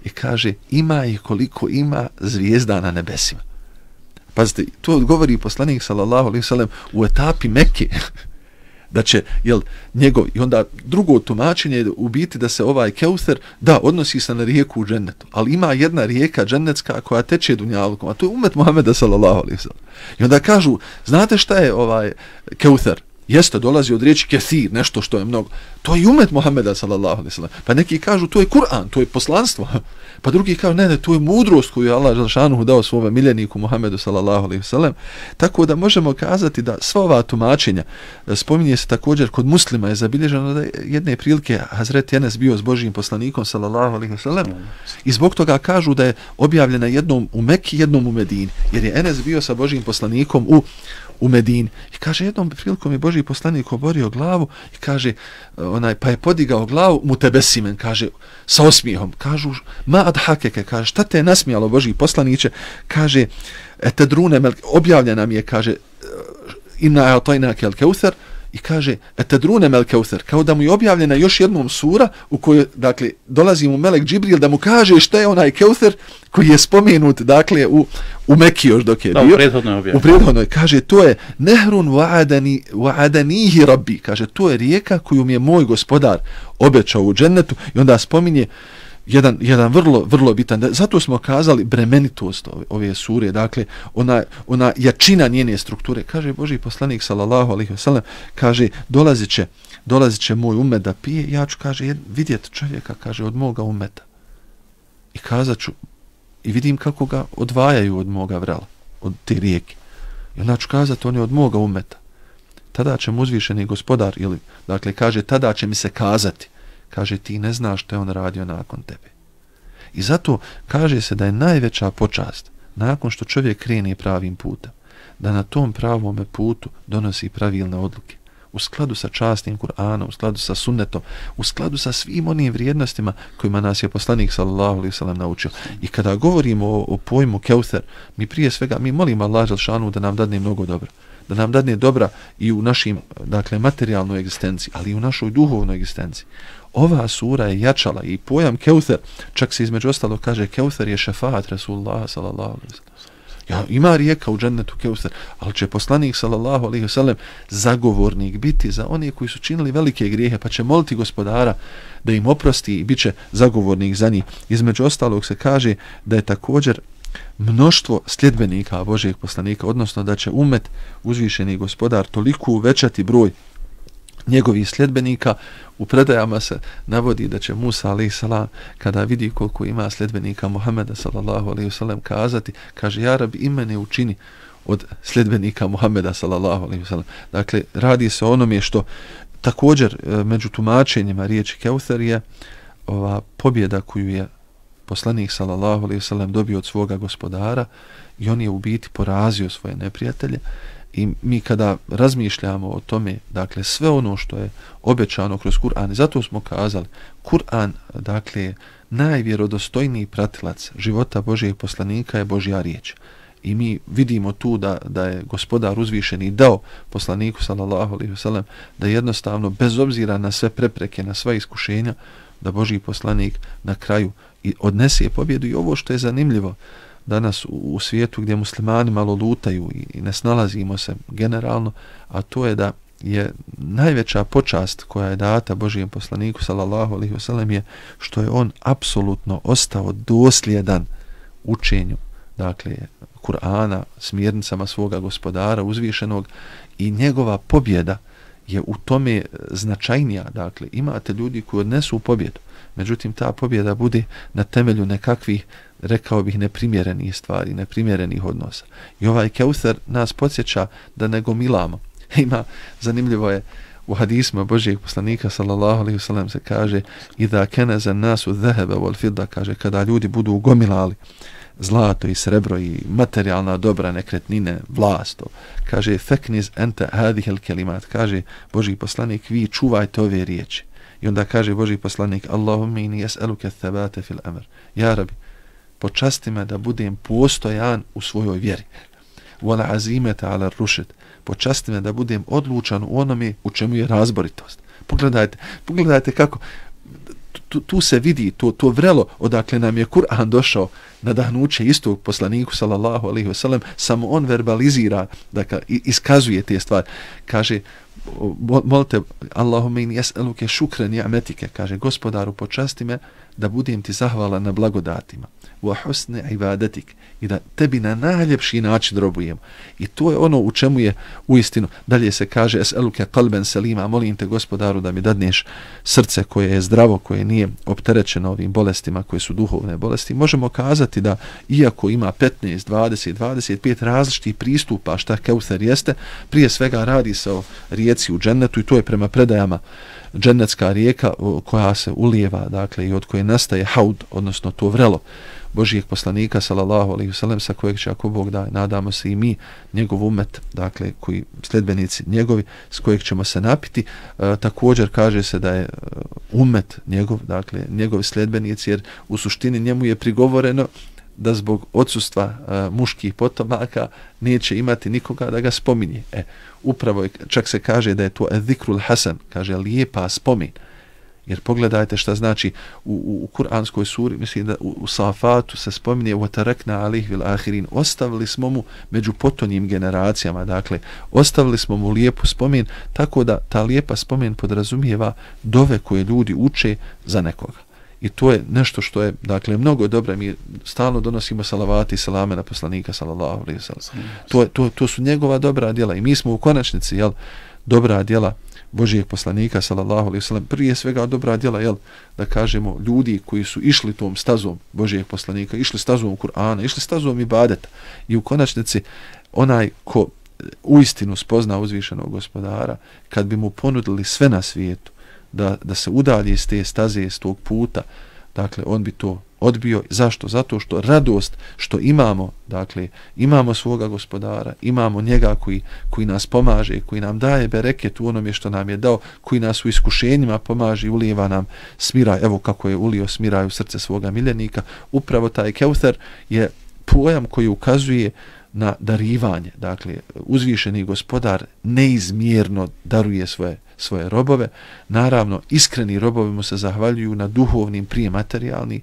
I kaže, ima ih koliko ima zvijezda na nebesima. Pazite, to govori poslanik sallallahu alejhi ve sellem u etapi Mekke. Da će, jel, njegov, i onda drugo tumačenje je u biti da se ovaj Kevther, da, odnosi se na rijeku u džennetu, ali ima jedna rijeka džennetska koja teče dunjalukom, a to je umet Muhameda sallallahu alejhi ve sellem. I onda kažu, znate šta je ovaj Kevther? Jeste, dolazi od riječi kethir, nešto što je mnogo. To je umet Muhameda sallallahu alejhi ve sellem. Pa neki kažu to je Kur'an, to je poslanstvo. Pa drugi kažu ne, ne, to je mudrost koju je Allah dželešanu dao svome miljeniku Muhamedu sallallahu alejhi ve sellem. Tako da možemo kazati da sva ova tumačenja, spominje se također kod muslima je zabilježeno da jedne prilike Hazreti Enes bio s Božjim poslanikom sallallahu alejhi ve sellem i zbog toga kažu da je objavljena jednom u Mekki, jednom u Medini, jer je Enes bio sa Božjim poslanikom u u Medini. I kaže, jednom prilikom je Božji poslanik oborio glavu i kaže, onaj, pa je podigao glavu mutebesimen, kaže, sa osmijehom. Kažu, ma adhakeke, kaže, šta te je nasmijalo Božji poslaniće? Kaže, etedrune, objavljena mi je, kaže, inna a'tajnaka al-Kevther, i kaže, etedrune mel Kevther, kao da mu je objavljena još jednom sura u kojoj, dakle, dolazi mu melek Džibril da mu kaže šta je onaj Kevther koji je spomenut, dakle, u, u Mekki još dok je da, bio. U prethodnoj objavljeno. U prethodnoj, kaže, to je nehrun wa'adani, wa'adanihi rabbi, kaže, to je rijeka koju mi je moj gospodar obećao u džennetu i onda spominje jedan, jedan vrlo, vrlo bitan, zato smo kazali bremenitost ove, ove sure, dakle, ona, ona jačina njene strukture. Kaže Božji poslanik, sallallahu alejhi ve sellem, kaže, dolazit će, dolazit će moj umet da pije, ja ću, kaže, vidjeti čovjeka, kaže, od moga umeta. I kazat ću, i vidim kako ga odvajaju od moga vrela, od te rijeke. I onda ću kazati, on je od moga umeta. Tada će mu uzvišeni gospodar, ili, dakle, kaže, tada će mi se kazati, kaže, ti ne znaš što je on radio nakon tebe. I zato kaže se da je najveća počast nakon što čovjek krene pravim putem, da na tom pravome putu donosi pravilne odluke u skladu sa častim Kur'anom, u skladu sa sunnetom, u skladu sa svim onim vrijednostima kojima nas je poslanik sallallahu alejhi ve sellem naučio. I kada govorimo o, o pojmu Kevther, mi prije svega mi molimo Allah dželešanu da nam dadne mnogo dobra, da nam dadne dobra i u našim, dakle, materijalnoj egzistenciji, ali i u našoj duhovnoj egzistenciji. Ova sura je jačala i pojam Kevther, čak se između ostalo kaže Kevther je šefaat Rasulullah sallallahu alejhi ve sellem. Ja, ima rijeka u džennetu Kevther, ali će poslanik sallallahu alejhi ve sellem zagovornik biti za one koji su činili velike grijehe, pa će moliti gospodara da im oprosti i bit će zagovornik za njih. Između ostalog se kaže da je također mnoštvo sljedbenika Božijeg poslanika, odnosno da će umet uzvišeni gospodar toliko uvećati broj njegovih sljedbenika. U predajama se navodi da će Musa alejhi selam kada vidi koliko ima sljedbenika Muhameda sallallahu alejhi ve sellem kazati, kaže ja Rabbi i mene učini od sljedbenika Muhameda sallallahu alejhi ve sellem. Dakle, radi se o onome što također među tumačenjima riječi Keuser je ova pobjeda koju je poslanik sallallahu alejhi ve sellem dobio od svoga gospodara i on je u biti porazio svoje neprijatelje. I mi kada razmišljamo o tome, dakle sve ono što je obećano kroz Kur'an, i zato smo kazali, Kur'an, dakle, najvjerodostojniji pratilac života Božijeg poslanika je Božja riječ. I mi vidimo tu da, da je gospodar uzvišeni dao poslaniku sallallahu alejhi ve sellem da jednostavno, bez obzira na sve prepreke, na sva iskušenja, da Božji poslanik na kraju i odnese pobjedu. I ovo što je zanimljivo danas u, u svijetu gdje muslimani malo lutaju i, i ne snalazimo se generalno, a to je da je najveća počast koja je data Božijem poslaniku sallallahu alejhi ve sellem je što je on apsolutno ostao dosljedan učenju, dakle Kur'ana, smjernicama svoga gospodara uzvišenog, i njegova pobjeda je u tome značajnija. Dakle, imate ljudi koji odnesu pobjedu, međutim ta pobjeda bude na temelju nekakvih, rekao bih, neprimjerenih stvari, neprimjerenih odnosa. I ovaj Keuser nas podsjeća da ne gomilamo. Ima, zanimljivo je, u hadisma Božijeg poslanika sallallahu alejhi ve sellem se kaže idha kanaza an-nasu dhahaba wal fidda, kaže kada ljudi budu ugomilali zlato i srebro i materijalna dobra, nekretnine, vlast, kaže fekniz anta hadhihi al-kalimat, kaže Božji poslanik, vi čuvajte ove riječi. I onda kaže Božji poslanik, Allahumma inni yas'aluka ath-thabata fil amr, ja Rabbi, počasti me da budem postojan u svojoj vjeri, wal azimata ala ar-rushd, počasti me da budem odlučan u onome u čemu je razboritost. Pogledajte, pogledajte kako tu, tu se vidi to, to vrelo odakle nam je Kur'an došao nadahnuće istog poslaniku sallallahu alejhi ve sellem, samo on verbalizira, dakle iskazuje te stvari. Kaže, molite Allahumma inni yas'aluke shukran ni'matika, kaže gospodaru počasti me da budem ti zahvalan na blagodatima, wa husni ibadatik, i da tebi na najljepši način robujemo. I to je ono u čemu je uistinu. Dalje se kaže es'aluke qalban salima, molim te gospodaru da mi dadneš srce koje je zdravo, koje nije opterećeno ovim bolestima koje su duhovne bolesti. Možemo kazati da iako ima petnaest, dvadeset, dvadeset pet različitih pristupa šta Keuser jeste, prije svega radi se o rijeci u džennetu i to je prema predajama džennetska rijeka koja se ulijeva, dakle, i od koje nastaje haud, odnosno to vrelo Božijeg poslanika sallallahu alejhi ve sellem, sa kojeg će, ako Bog da, nadamo se i mi, njegov umet, dakle koji sljedbenici njegovi, s kojeg ćemo se napiti. E, također kaže se da je umet njegov, dakle njegovi sljedbenici, jer u suštini njemu je prigovoreno da zbog odsustva uh, muških potomaka neće imati nikoga da ga spominje. E, upravo je, čak se kaže da je to zikrul hasan, kaže lijepa spomin. Jer pogledajte šta znači u, u, u kuranskoj suri, mislim da u, u Safatu se spominje وَتَرَكْنَا عَلِهِ وِالْآخِرِينَ, ostavili smo mu među potonjim generacijama, dakle ostavili smo mu lijepu spomen, tako da ta lijepa spomen podrazumijeva dove koje ljudi uče za nekoga. I to je nešto što je, dakle, mnogo dobro. Mi stalno donosimo salavati i salame na poslanika sallallahu alejhi ve sellem. To, to, to su njegova dobra djela i mi smo u konačnici, jel, dobra djela Božijeg poslanika sallallahu alejhi ve sellem, prije svega dobra djela, jel, da kažemo, ljudi koji su išli tom stazom Božijeg poslanika, išli stazom Kur'ana, išli stazom ibadeta, i u konačnici onaj ko uistinu spozna uzvišenog gospodara, kad bi mu ponudili sve na svijetu da, da se udalje iz te staze, iz tog puta, dakle on bi to odbio. Zašto? Zato što radost što imamo, dakle imamo svoga gospodara, imamo njega koji, koji nas pomaže, koji nam daje bereket u onome što nam je dao, koji nas u iskušenjima pomaže i ulijeva nam smiraj, evo kako je ulio smiraj u srce svoga miljenika. Upravo taj Keuser je pojam koji ukazuje na darivanje, dakle uzvišeni gospodar neizmjerno daruje svoje svoje robove. Naravno, iskreni robovi mu se zahvaljuju na duhovnim prije materijalni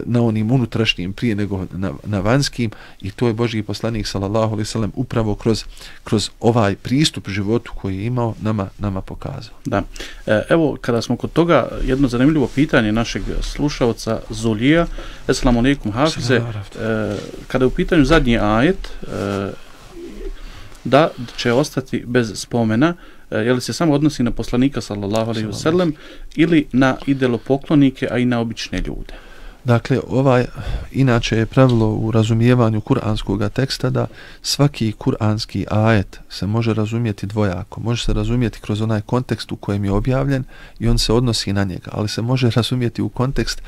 na onim unutrašnjim prije nego na, na vanjskim, i to je Božji poslanik sallallahu alejhi ve sellem upravo kroz, kroz ovaj pristup životu koji je imao nama, nama pokazao. Da. E, evo, kada smo kod toga, jedno zanimljivo pitanje našeg slušalca Zulija. Assalamu alejkum hafize. E, kada je u pitanju zadnji ajet, e, da će ostati bez spomena, je li se samo odnosi na poslanika sallallahu alejhi ve sellem ili na idolopoklonike, a i na obične ljude? Dakle, ovaj, inače je pravilo u razumijevanju kuranskog teksta da svaki kuranski ajet se može razumjeti dvojako. Može se razumjeti kroz onaj kontekst u kojem je objavljen i on se odnosi na njega, ali se može razumjeti u kontekst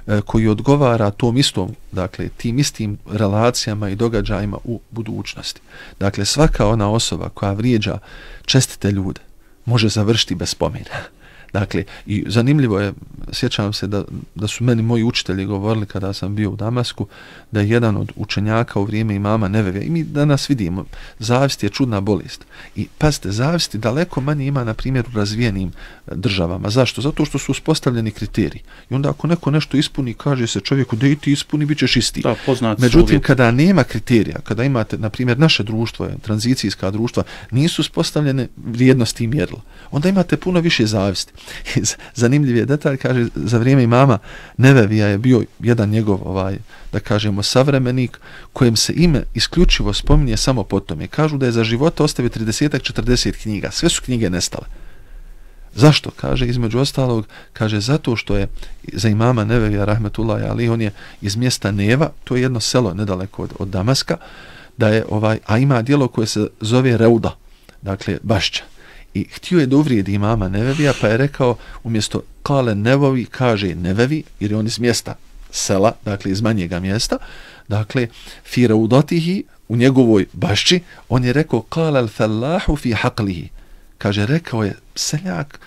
e, koji odgovara tom istom, dakle, tim istim relacijama i događajima u budućnosti. Dakle, svaka ona osoba koja vrijeđa čestite ljude može završiti bez spomena. Dakle, i zanimljivo je, sjećam se da, da su meni moji učitelji govorili kada sam bio u Damasku, da je jedan od učenjaka u vrijeme imama Nevevija, i mi danas vidimo, zavist je čudna bolest. I pazite, zavisti daleko manje ima, na primjer, u razvijenim državama. Zašto? Zato što su uspostavljeni kriteriji. I onda ako neko nešto ispuni, kaže se čovjeku da i ti ispuni, bit ćeš isti. Da, poznat. Međutim, kada nema kriterija, kada imate, na primjer, naše društvo, tranzicijska društva, nisu uspostavljene vrijednosti i mjerila, onda imate puno više zavisti. Zanimljiv je detalj, kaže, za vrijeme imama Nevevija je bio jedan njegov, ovaj, da kažemo, savremenik kojem se ime isključivo spominje samo po tome. Kažu da je za života ostavio trideset četrdeset knjiga. Sve su knjige nestale. Zašto? Kaže, između ostalog, kaže, zato što je za imama Nevevija, rahmetullahi alejhi, on je iz mjesta Neva, to je jedno selo nedaleko od, od Damaska, da je, ovaj, a ima djelo koje se zove Reuda, dakle, bašća. I htio je da uvrijedi imama Nevevija, pa je rekao, umjesto kale Nevovi, kaže Nevevi, jer je on iz mjesta sela, dakle iz manjega mjesta, dakle, fi raudotihi, u njegovoj bašći, on je rekao, kale al fallahu fi haqlihi, kaže, rekao je seljak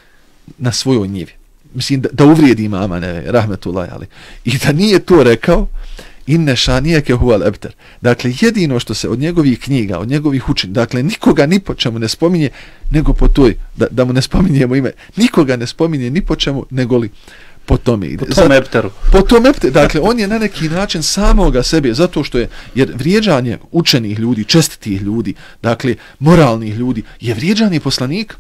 na svojoj njivi. Mislim, da, da uvrijedi imama Nevevija, rahmetullahi alejhi. I da nije to rekao, inne šanijeke huval ebter. Dakle, jedino što se od njegovih knjiga, od njegovih učenja, dakle, nikoga ni po čemu ne spominje, nego po toj, da, da mu ne spominjemo ime, nikoga ne spominje ni po čemu, nego li po tome ide. Po tom epteru. Po tom epteru. Dakle, on je na neki način samoga sebe, zato što je, jer vrijeđanje učenih ljudi, čestitih ljudi, dakle, moralnih ljudi, je vrijeđanje poslanika.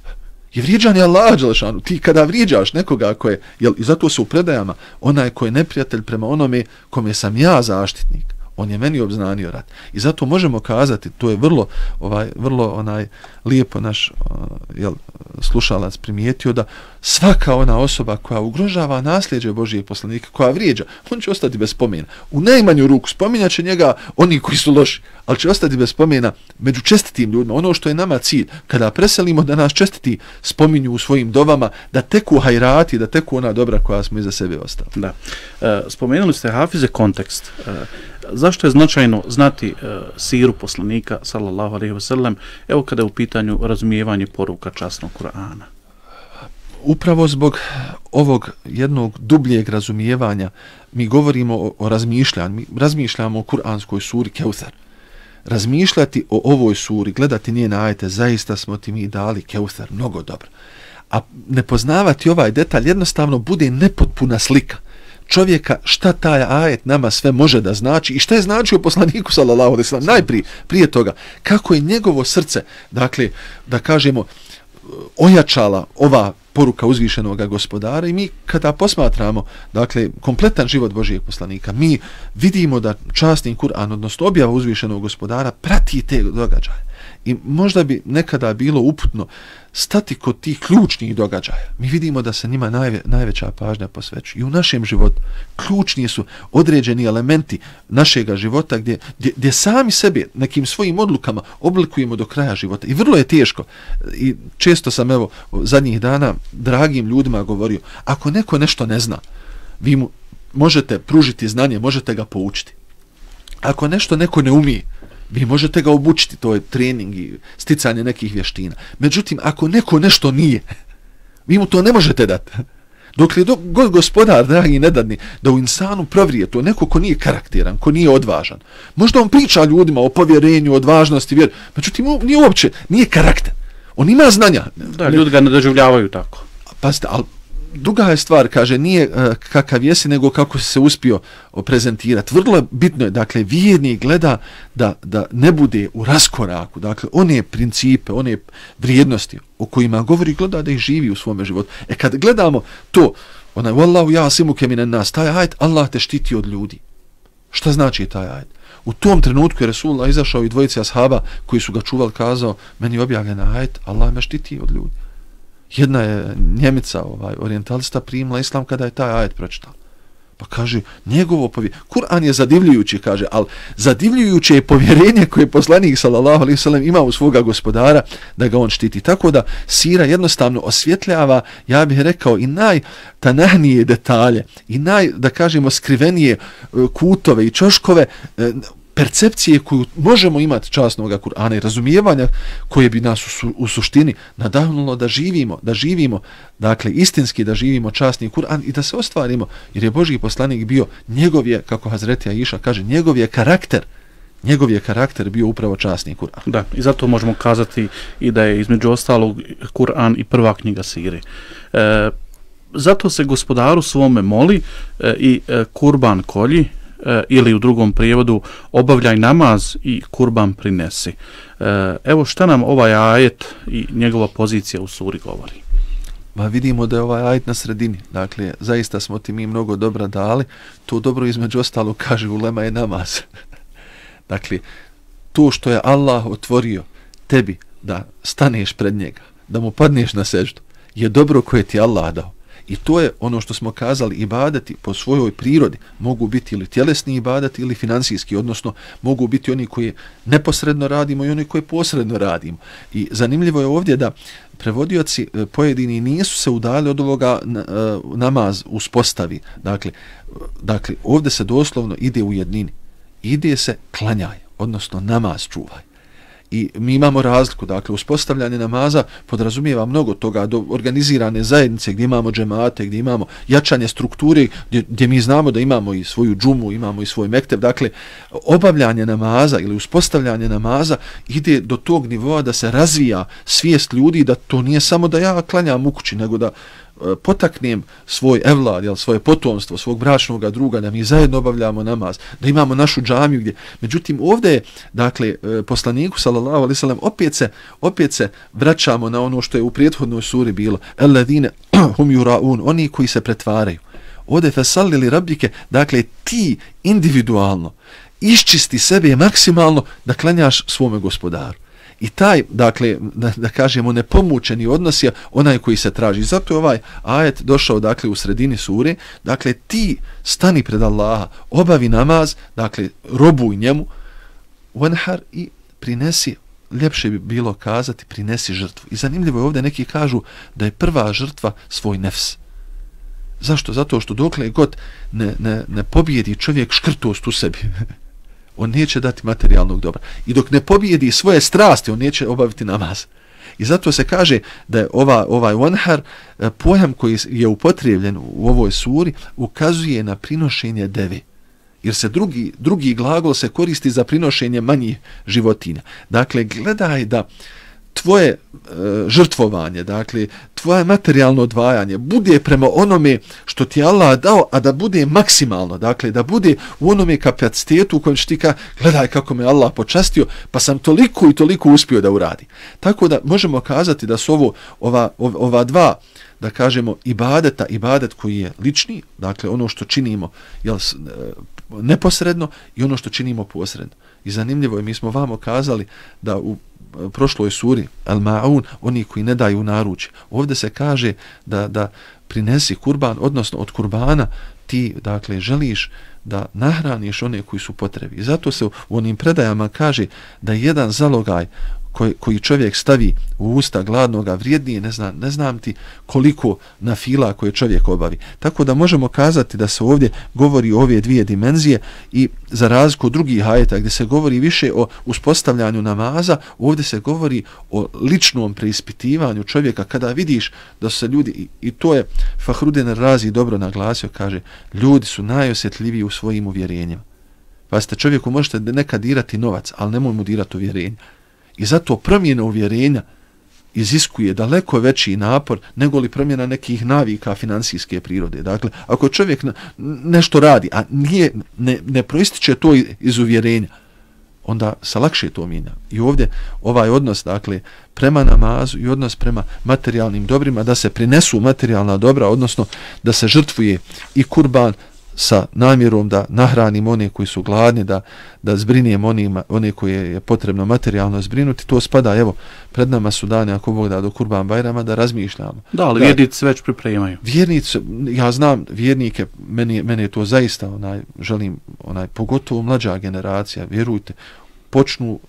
Je vrijeđanje Allaha dželešanu. Ti kada vrijeđaš nekoga ko je, jel, i zato se u predajama, onaj ko je neprijatelj prema onome kome sam ja zaštitnik, on je meni obznanio rat. I zato možemo kazati, to je vrlo, ovaj, vrlo onaj lijepo naš uh, jel, slušalac primijetio, da svaka ona osoba koja ugrožava nasljeđe Božijeg poslanika, koja vrijeđa, on će ostati bez spomena. U najmanju ruku spominjat će njega oni koji su loši, ali će ostati bez spomena među čestitim ljudima. Ono što je nama cilj, kada preselimo da nas čestiti spominju u svojim dovama, da teku hajrati, da teku ona dobra koja smo iza sebe ostali. Da. E, spomenuli ste, hafize, kontekst. E, zašto je značajno znati e, siru poslanika, sallallahu alejhi ve sellem, evo kada je u pitanju razumijevanje poruka časnog Kur'ana? Upravo zbog ovog jednog dubljeg razumijevanja mi govorimo o, o razmišljanju, mi razmišljamo o kuranskoj suri Keuthar. Razmišljati o ovoj suri, gledati njene ajete, zaista smo ti mi dali Keuthar, mnogo dobro. A ne poznavati ovaj detalj jednostavno bude nepotpuna slika čovjeka šta taj ajet nama sve može da znači i šta je značio poslaniku sallallahu alejhi ve sellem. Najprije, prije toga, kako je njegovo srce, dakle, da kažemo, ojačala ova poruka uzvišenog gospodara, i mi kada posmatramo, dakle, kompletan život Božijeg poslanika, mi vidimo da časni Kur'an, odnosno objava uzvišenog gospodara, prati te događaje. I možda bi nekada bilo uputno stati kod tih ključnih događaja. Mi vidimo da se njima najve, najveća pažnja posvećuje. I u našem životu ključni su određeni elementi našega života gdje, gdje, gdje sami sebe nekim svojim odlukama oblikujemo do kraja života. I vrlo je teško. I često sam, evo, zadnjih dana dragim ljudima govorio, ako neko nešto ne zna, vi mu možete pružiti znanje, možete ga poučiti. Ako nešto neko ne umije, vi možete ga obučiti, to je trening i sticanje nekih vještina. Međutim, ako neko nešto nije, vi mu to ne možete dati. Dok li do, god gospodar, dragi, ne dadni, da u insanu provrije to neko ko nije karakteran, ko nije odvažan. Možda on priča ljudima o povjerenju, odvažnosti, vjer, međutim, nije uopće, nije karakter. On ima znanja. Da, ljudi ga ne doživljavaju tako. Pazite, ali druga je stvar, kaže, nije uh, kakav jesi, nego kako se uspio prezentirati. Vrlo bitno je, dakle, vjernik gleda da, da ne bude u raskoraku, dakle, one principe, one vrijednosti o kojima govori, gleda da ih živi u svome životu. E kad gledamo to, onaj, wallahu ja'simuke minan nas, taj ajet, Allah te štiti od ljudi. Šta znači taj ajet? U tom trenutku je Resulullah izašao i dvojice ashaba koji su ga čuvali, kazao, meni je objavljen ajet, Allah me štiti od ljudi. Jedna je Njemica, ovaj, orijentalista, primila islam kada je taj ajet pročitala. Pa kaže, njegovo povjerenje, Kur'an je zadivljujući, kaže, ali zadivljujuće je povjerenje koje je poslanik sallallahu alejhi ve sellem ima u svoga gospodara da ga on štiti. Tako da sira jednostavno osvjetljava, ja bih rekao, i najtanahnije detalje, i naj, da kažemo, skrivenije kutove i čoškove, percepcije koju možemo imati časnog Kur'ana i razumijevanja koje bi nas u, su, u suštini nadahnulo da živimo, da živimo, dakle istinski da živimo časni Kur'an i da se ostvarimo, jer je Božji poslanik bio, njegov je, kako Hazreti Aisha kaže, njegov je karakter, njegov je karakter bio upravo časni Kur'an. Da, i zato možemo kazati i da je između ostalog Kur'an i prva knjiga sire. E, zato se gospodaru svome moli e, i e, kurban kolji, ili u drugom prijevodu obavljaj namaz i kurban prinesi. Evo šta nam ovaj ajet i njegova pozicija u suri govori. Ma vidimo da je ovaj ajet na sredini. Dakle, zaista smo ti mi mnogo dobra dali. To dobro između ostalo kaže ulema je namaz. Dakle, to što je Allah otvorio tebi da staneš pred njega, da mu padneš na seždu, je dobro koje ti Allah dao. I to je ono što smo kazali, ibadeti po svojoj prirodi mogu biti ili tjelesni ibadeti ili financijski, odnosno mogu biti oni koji neposredno radimo i oni koji posredno radimo. I zanimljivo je ovdje da prevodioci pojedini nisu se udali od ovoga namaz uspostavi. Dakle, dakle, ovdje se doslovno ide u jednini. Ide se klanjaj, odnosno namaz čuvaj. I mi imamo razliku, dakle, uspostavljanje namaza podrazumijeva mnogo toga, do organizirane zajednice gdje imamo džemate, gdje imamo jačanje strukture, gdje, gdje mi znamo da imamo i svoju džumu, imamo i svoj mekteb, dakle, obavljanje namaza ili uspostavljanje namaza ide do tog nivoa da se razvija svijest ljudi da to nije samo da ja klanjam u kući, nego da potaknem svoj evlad, jel, svoje potomstvo, svog bračnog druga, da mi zajedno obavljamo namaz, da imamo našu džamiju gdje. Međutim, ovdje je, dakle, poslaniku, sallallahu alejhi ve sellem, opet se, opet se vraćamo na ono što je u prethodnoj suri bilo. Alladine hum yuraun, oni koji se pretvaraju. Ovdje fasalli li rabbike, dakle, ti individualno iščisti sebe maksimalno da klanjaš svome gospodaru. I taj, dakle, da, da kažemo, nepomučeni odnos je onaj koji se traži. Zato je ovaj ajet došao, dakle, u sredini sure. Dakle, ti stani pred Allaha, obavi namaz, dakle, robuj njemu, wanhar, i prinesi, ljepše bi bilo kazati, prinesi žrtvu. I zanimljivo je ovdje, neki kažu da je prva žrtva svoj nefs. Zašto? Zato što dokle god ne, ne, ne pobjedi čovjek škrtost u sebi, on neće dati materijalnog dobra. I dok ne pobjedi svoje strasti, on neće obaviti namaz. I zato se kaže da je ova, ovaj wanhar, pojam koji je upotrebljen u ovoj suri, ukazuje na prinošenje deve. Jer se drugi, drugi glagol se koristi za prinošenje manjih životinja. Dakle, gledaj da tvoje e, žrtvovanje, dakle, tvoje materijalno odvajanje bude prema onome što ti Allah dao, a da bude maksimalno, dakle, da bude u onome kapacitetu u kojem će ti ka, gledaj kako me Allah počastio, pa sam toliko i toliko uspio da uradi. Tako da možemo kazati da su ovo, ova, ova dva, da kažemo, ibadeta, ibadet koji je lični, dakle, ono što činimo, jel, neposredno, i ono što činimo posredno. I zanimljivo je, mi smo vamo kazali da u prošloj suri Al-Ma'un, oni koji ne daju naručje. Ovdje se kaže da, da prinesi kurban, odnosno od kurbana ti, dakle, želiš da nahraniš one koji su potrebi. I zato se u onim predajama kaže da jedan zalogaj koji, koji čovjek stavi u usta gladnoga vrijednije, ne znam, ne znam ti koliko na fila koje čovjek obavi. Tako da možemo kazati da se ovdje govori o ove dvije dimenzije, i za razliku od drugih ajeta gdje se govori više o uspostavljanju namaza, ovdje se govori o ličnom preispitivanju čovjeka kada vidiš da se ljudi, i, i to je Fahrudin Razi dobro naglasio, kaže, ljudi su najosjetljiviji u svojim uvjerenjima. Pa ste čovjeku možete nekad dirati novac, ali nemoj mu dirati uvjerenja. I zato promjena uvjerenja iziskuje daleko veći napor nego li promjena nekih navika financijske prirode. Dakle, ako čovjek nešto radi, a nije, ne, ne proističe to iz uvjerenja, onda se lakše to mijenja. I ovdje ovaj odnos, dakle, prema namazu i odnos prema materijalnim dobrima, da se prinesu materijalna dobra, odnosno da se žrtvuje i kurban sa namjerom da nahranimo one koji su gladni, da, da zbrinimo onima, one koje je potrebno materijalno zbrinuti, to spada, evo, pred nama su dani, ako Bog da, do Kurban Bajrama, da razmišljamo. Da, ali vjernici već pripremaju. Vjernici, ja znam vjernike, meni, meni je to zaista, onaj, želim, onaj, pogotovo mlađa generacija, vjerujte, počnu,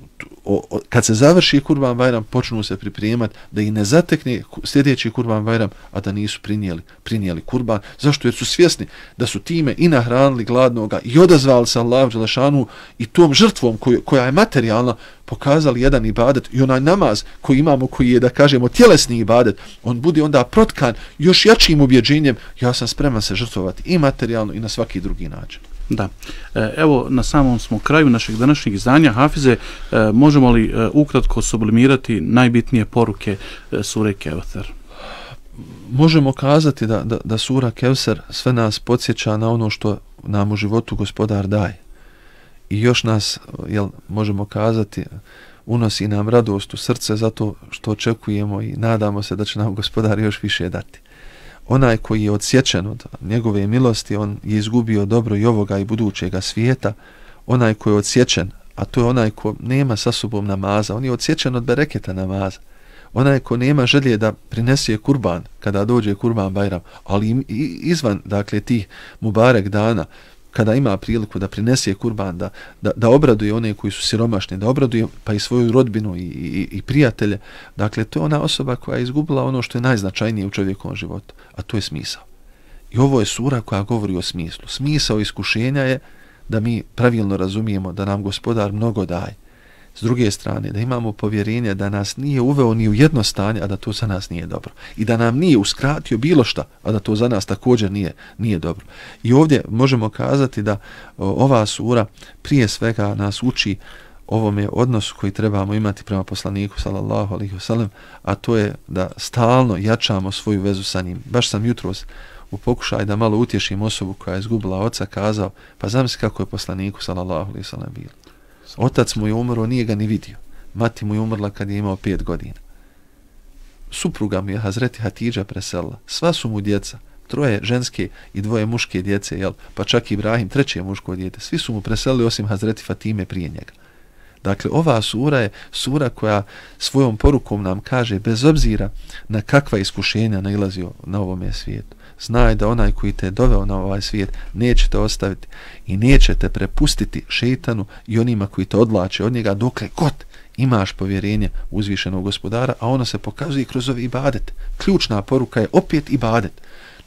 o, o, kad se završi Kurban Bajram, počnu se pripremati da ih ne zatekne sljedeći Kurban Bajram, a da nisu prinijeli, prinijeli kurban. Zašto? Jer su svjesni da su time i nahranili gladnoga i odazvali se Allahu dželešanu i tom žrtvom koju, koja je materijalna pokazali jedan ibadet i onaj namaz koji imamo, koji je, da kažemo, tjelesni ibadet, on bude onda protkan još jačim ubjeđenjem, ja sam spreman se žrtvovati i materijalno i na svaki drugi način. Da. Evo, na samom smo kraju našeg današnjeg izdanja. Hafize, možemo li ukratko sublimirati najbitnije poruke sure Kevser? Možemo kazati da, da, da sura Kevser sve nas podsjeća na ono što nam u životu Gospodar daje. I još nas, jel, možemo kazati, unosi nam radost u srce zato što očekujemo i nadamo se da će nam Gospodar još više dati. Onaj koji je odsječen od njegove milosti, on je izgubio dobro i ovoga i budućega svijeta. Onaj koji je odsječen, a to je onaj ko nema sa sobom namaza, on je odsječen od bereketa namaza. Onaj ko nema želje da prinese kurban kada dođe Kurban Bajram, ali izvan, dakle, tih mubarek dana, kada ima priliku da prinese kurban, da, da, da obraduje one koji su siromašni, da obraduje pa i svoju rodbinu i, i, i prijatelje. Dakle, to je ona osoba koja je izgubila ono što je najznačajnije u čovjekovom životu, a to je smisao. I ovo je sura koja govori o smislu. Smisao iskušenja je da mi pravilno razumijemo da nam Gospodar mnogo daje. S druge strane, da imamo povjerenje da nas nije uveo ni u jedno stanje, a da to za nas nije dobro. I da nam nije uskratio bilo šta, a da to za nas također nije, nije dobro. I ovdje možemo kazati da o, ova sura prije svega nas uči ovome odnosu koji trebamo imati prema poslaniku sallallahu alejhi ve sellem, a to je da stalno jačamo svoju vezu sa njim. Baš sam jutros u pokušaju da malo utješim osobu koja je izgubila oca kazao, pa zamisli kako je poslaniku sallallahu alejhi ve sellem bilo. Otac mu je umro, nije ga ni vidio. Mati mu je umrla kad je imao pet godina. Supruga mu je Hazreti Hatidža preselila. Sva su mu djeca, troje ženske i dvoje muške djece, jel? Pa čak i Ibrahim, treće muško djete. Svi su mu preselili osim Hazreti Fatime prije njega. Dakle, ova sura je sura koja svojom porukom nam kaže, bez obzira na kakva iskušenja nailazio na ovome svijetu, znaj da onaj koji te doveo na ovaj svijet neće te ostaviti i neće te prepustiti šejtanu i onima koji te odvlače od njega dokle god imaš povjerenje u uzvišenog Gospodara, a ono se pokazuje kroz ovaj ibadet. Ključna poruka je opet ibadet.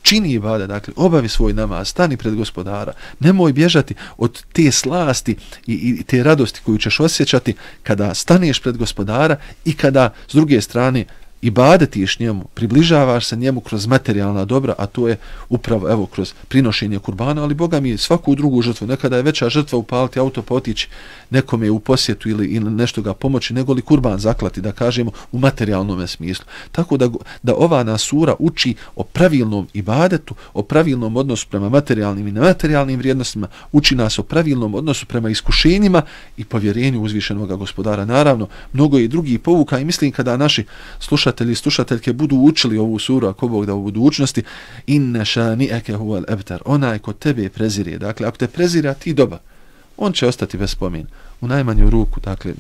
Čini ibadet, dakle, obavi svoj namaz, stani pred Gospodara, nemoj bježati od te slasti i, i te radosti koju ćeš osjećati kada staneš pred Gospodara i kada s druge strane ibadetiš njemu, približavaš se njemu kroz materijalna dobra, a to je upravo, evo, kroz prinošenje kurbana, ali Boga mi svaku drugu žrtvu, nekada je veća žrtva upaliti auto pa otići nekome u posjetu ili, ili nešto ga pomoći, nego li kurban zaklati, da kažemo, u materijalnom smislu. Tako da, da ova nas sura uči o pravilnom ibadetu, o pravilnom odnosu prema materijalnim i nematerijalnim vrijednostima, uči nas o pravilnom odnosu prema iskušenjima i povjerenju uzvišenog Gospodara. Naravno, mnogo je i drugih povuka i mislim kada naši slušatelji i slušateljke budu učili ovu suru, ako Bog da u budućnosti, inne šani'eke huvel ebtar, onaj ko tebe prezire, dakle, ako te prezira, ti doba, on će ostati bez spomena. U najmanju ruku, dakle,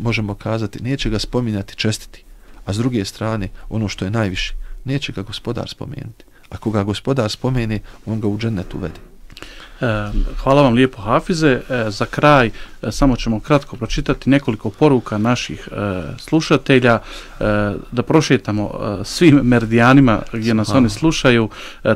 možemo kazati, neće ga spominjati čestiti, a s druge strane, ono što je najviše, neće ga Gospodar spomenuti. Ako ga Gospodar spomene, on ga u džennet uvede. Hvala vam lijepo, Hafize. Za kraj samo ćemo kratko pročitati nekoliko poruka naših slušatelja, da prošetamo svim meridijanima gdje nas oni slušaju.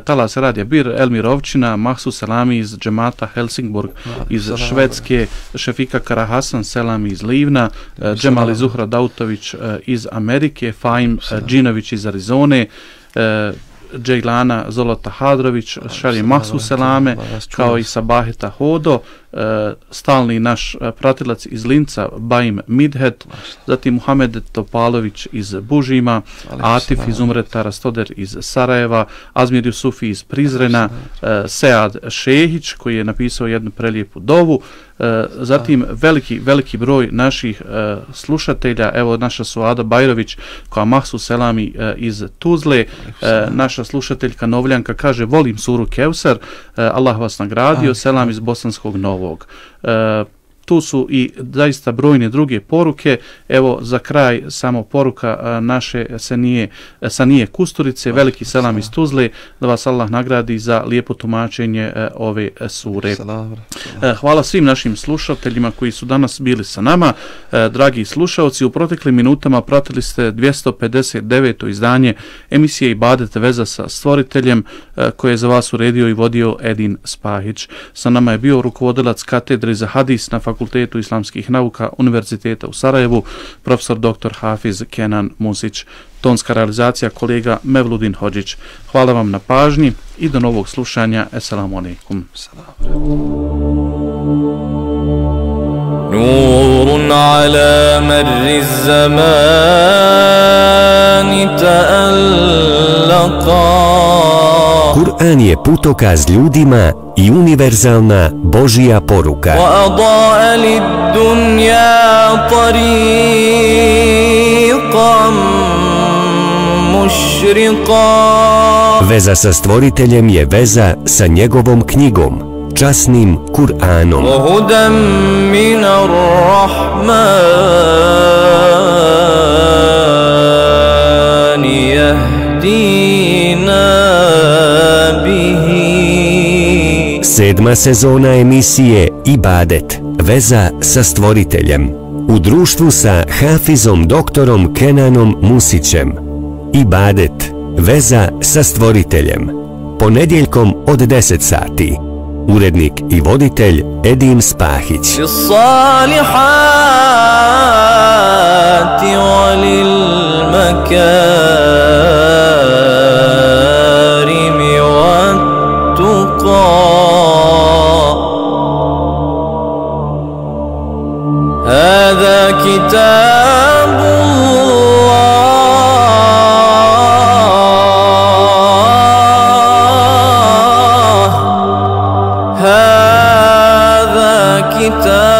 Talas Radija Bir, Elmir Ovčina, Mahsu Selami iz džemata Helsingborg iz Švedske, Šefika Karahasan Selami iz Livna, Džemali Zuhra Dautović iz Amerike, Fahim Džinović iz Arizone, Džejlana Zolota Hadrović šalje Mahsu selame, kao i Sabaheta Hodo, stalni naš pratilac iz Linca, Bajim Midhet, zatim Muhamed Topalović iz Bužima, Atif iz Umreta, Rastoder iz Sarajeva, Azmir Jusufi iz Prizrena, Sead Šehić koji je napisao jednu prelijepu dovu, zatim veliki, veliki broj naših slušatelja, evo naša Suada Bajrović koja Mahsu Selami iz Tuzle, naša slušateljka Novljanka kaže volim suru Kevsar, Allah vas nagradio, selam iz Bosanskog Novog. Tu su i zaista brojne druge poruke. Evo za kraj samo poruka naše Sanije, Sanije Kusturice, veliki selam iz Tuzle, da vas Allah nagradi za lijepo tumačenje ove sure. Hvala svim našim slušateljima koji su danas bili sa nama. Dragi slušalci, u proteklim minutama pratili ste dvjesto pedeset deveto izdanje emisije Ibadet veza sa stvoriteljem koje je za vas uredio i vodio Edin Spahić. Sa nama je bio rukovodilac katedre za hadis na Fakultetu islamskih nauka Univerziteta u Sarajevu, profesor doktor Hafiz Kenan Musić. Tonska realizacija kolega Mevludin Hodžić. Hvala vam na pažnji i do novog slušanja. Esselamu alaikum. Nurun ala marri zamani ta'allaka. Kur'an je putokaz ljudima i univerzalna Božija poruka. وَأَضَاءَ لِلدُّنْيَا طَرِيقًا مُشْرِقًا. Veza sa stvoriteljem je veza sa njegovom knjigom, časnim Kur'anom. وَهُدًى مِنَ الرَّحْمَنِ يَهْدِينَا بِهِ. Sedma sezona emisije Ibadet, veza sa stvoriteljem. U društvu sa Hafizom doktorom Kenanom Musićem. Ibadet, veza sa stvoriteljem. Ponedjeljkom od deset sati. Urednik i voditelj Edin Spahić. للصالحات وللمكارم والتقى. هذا كتاب الله، هذا كتاب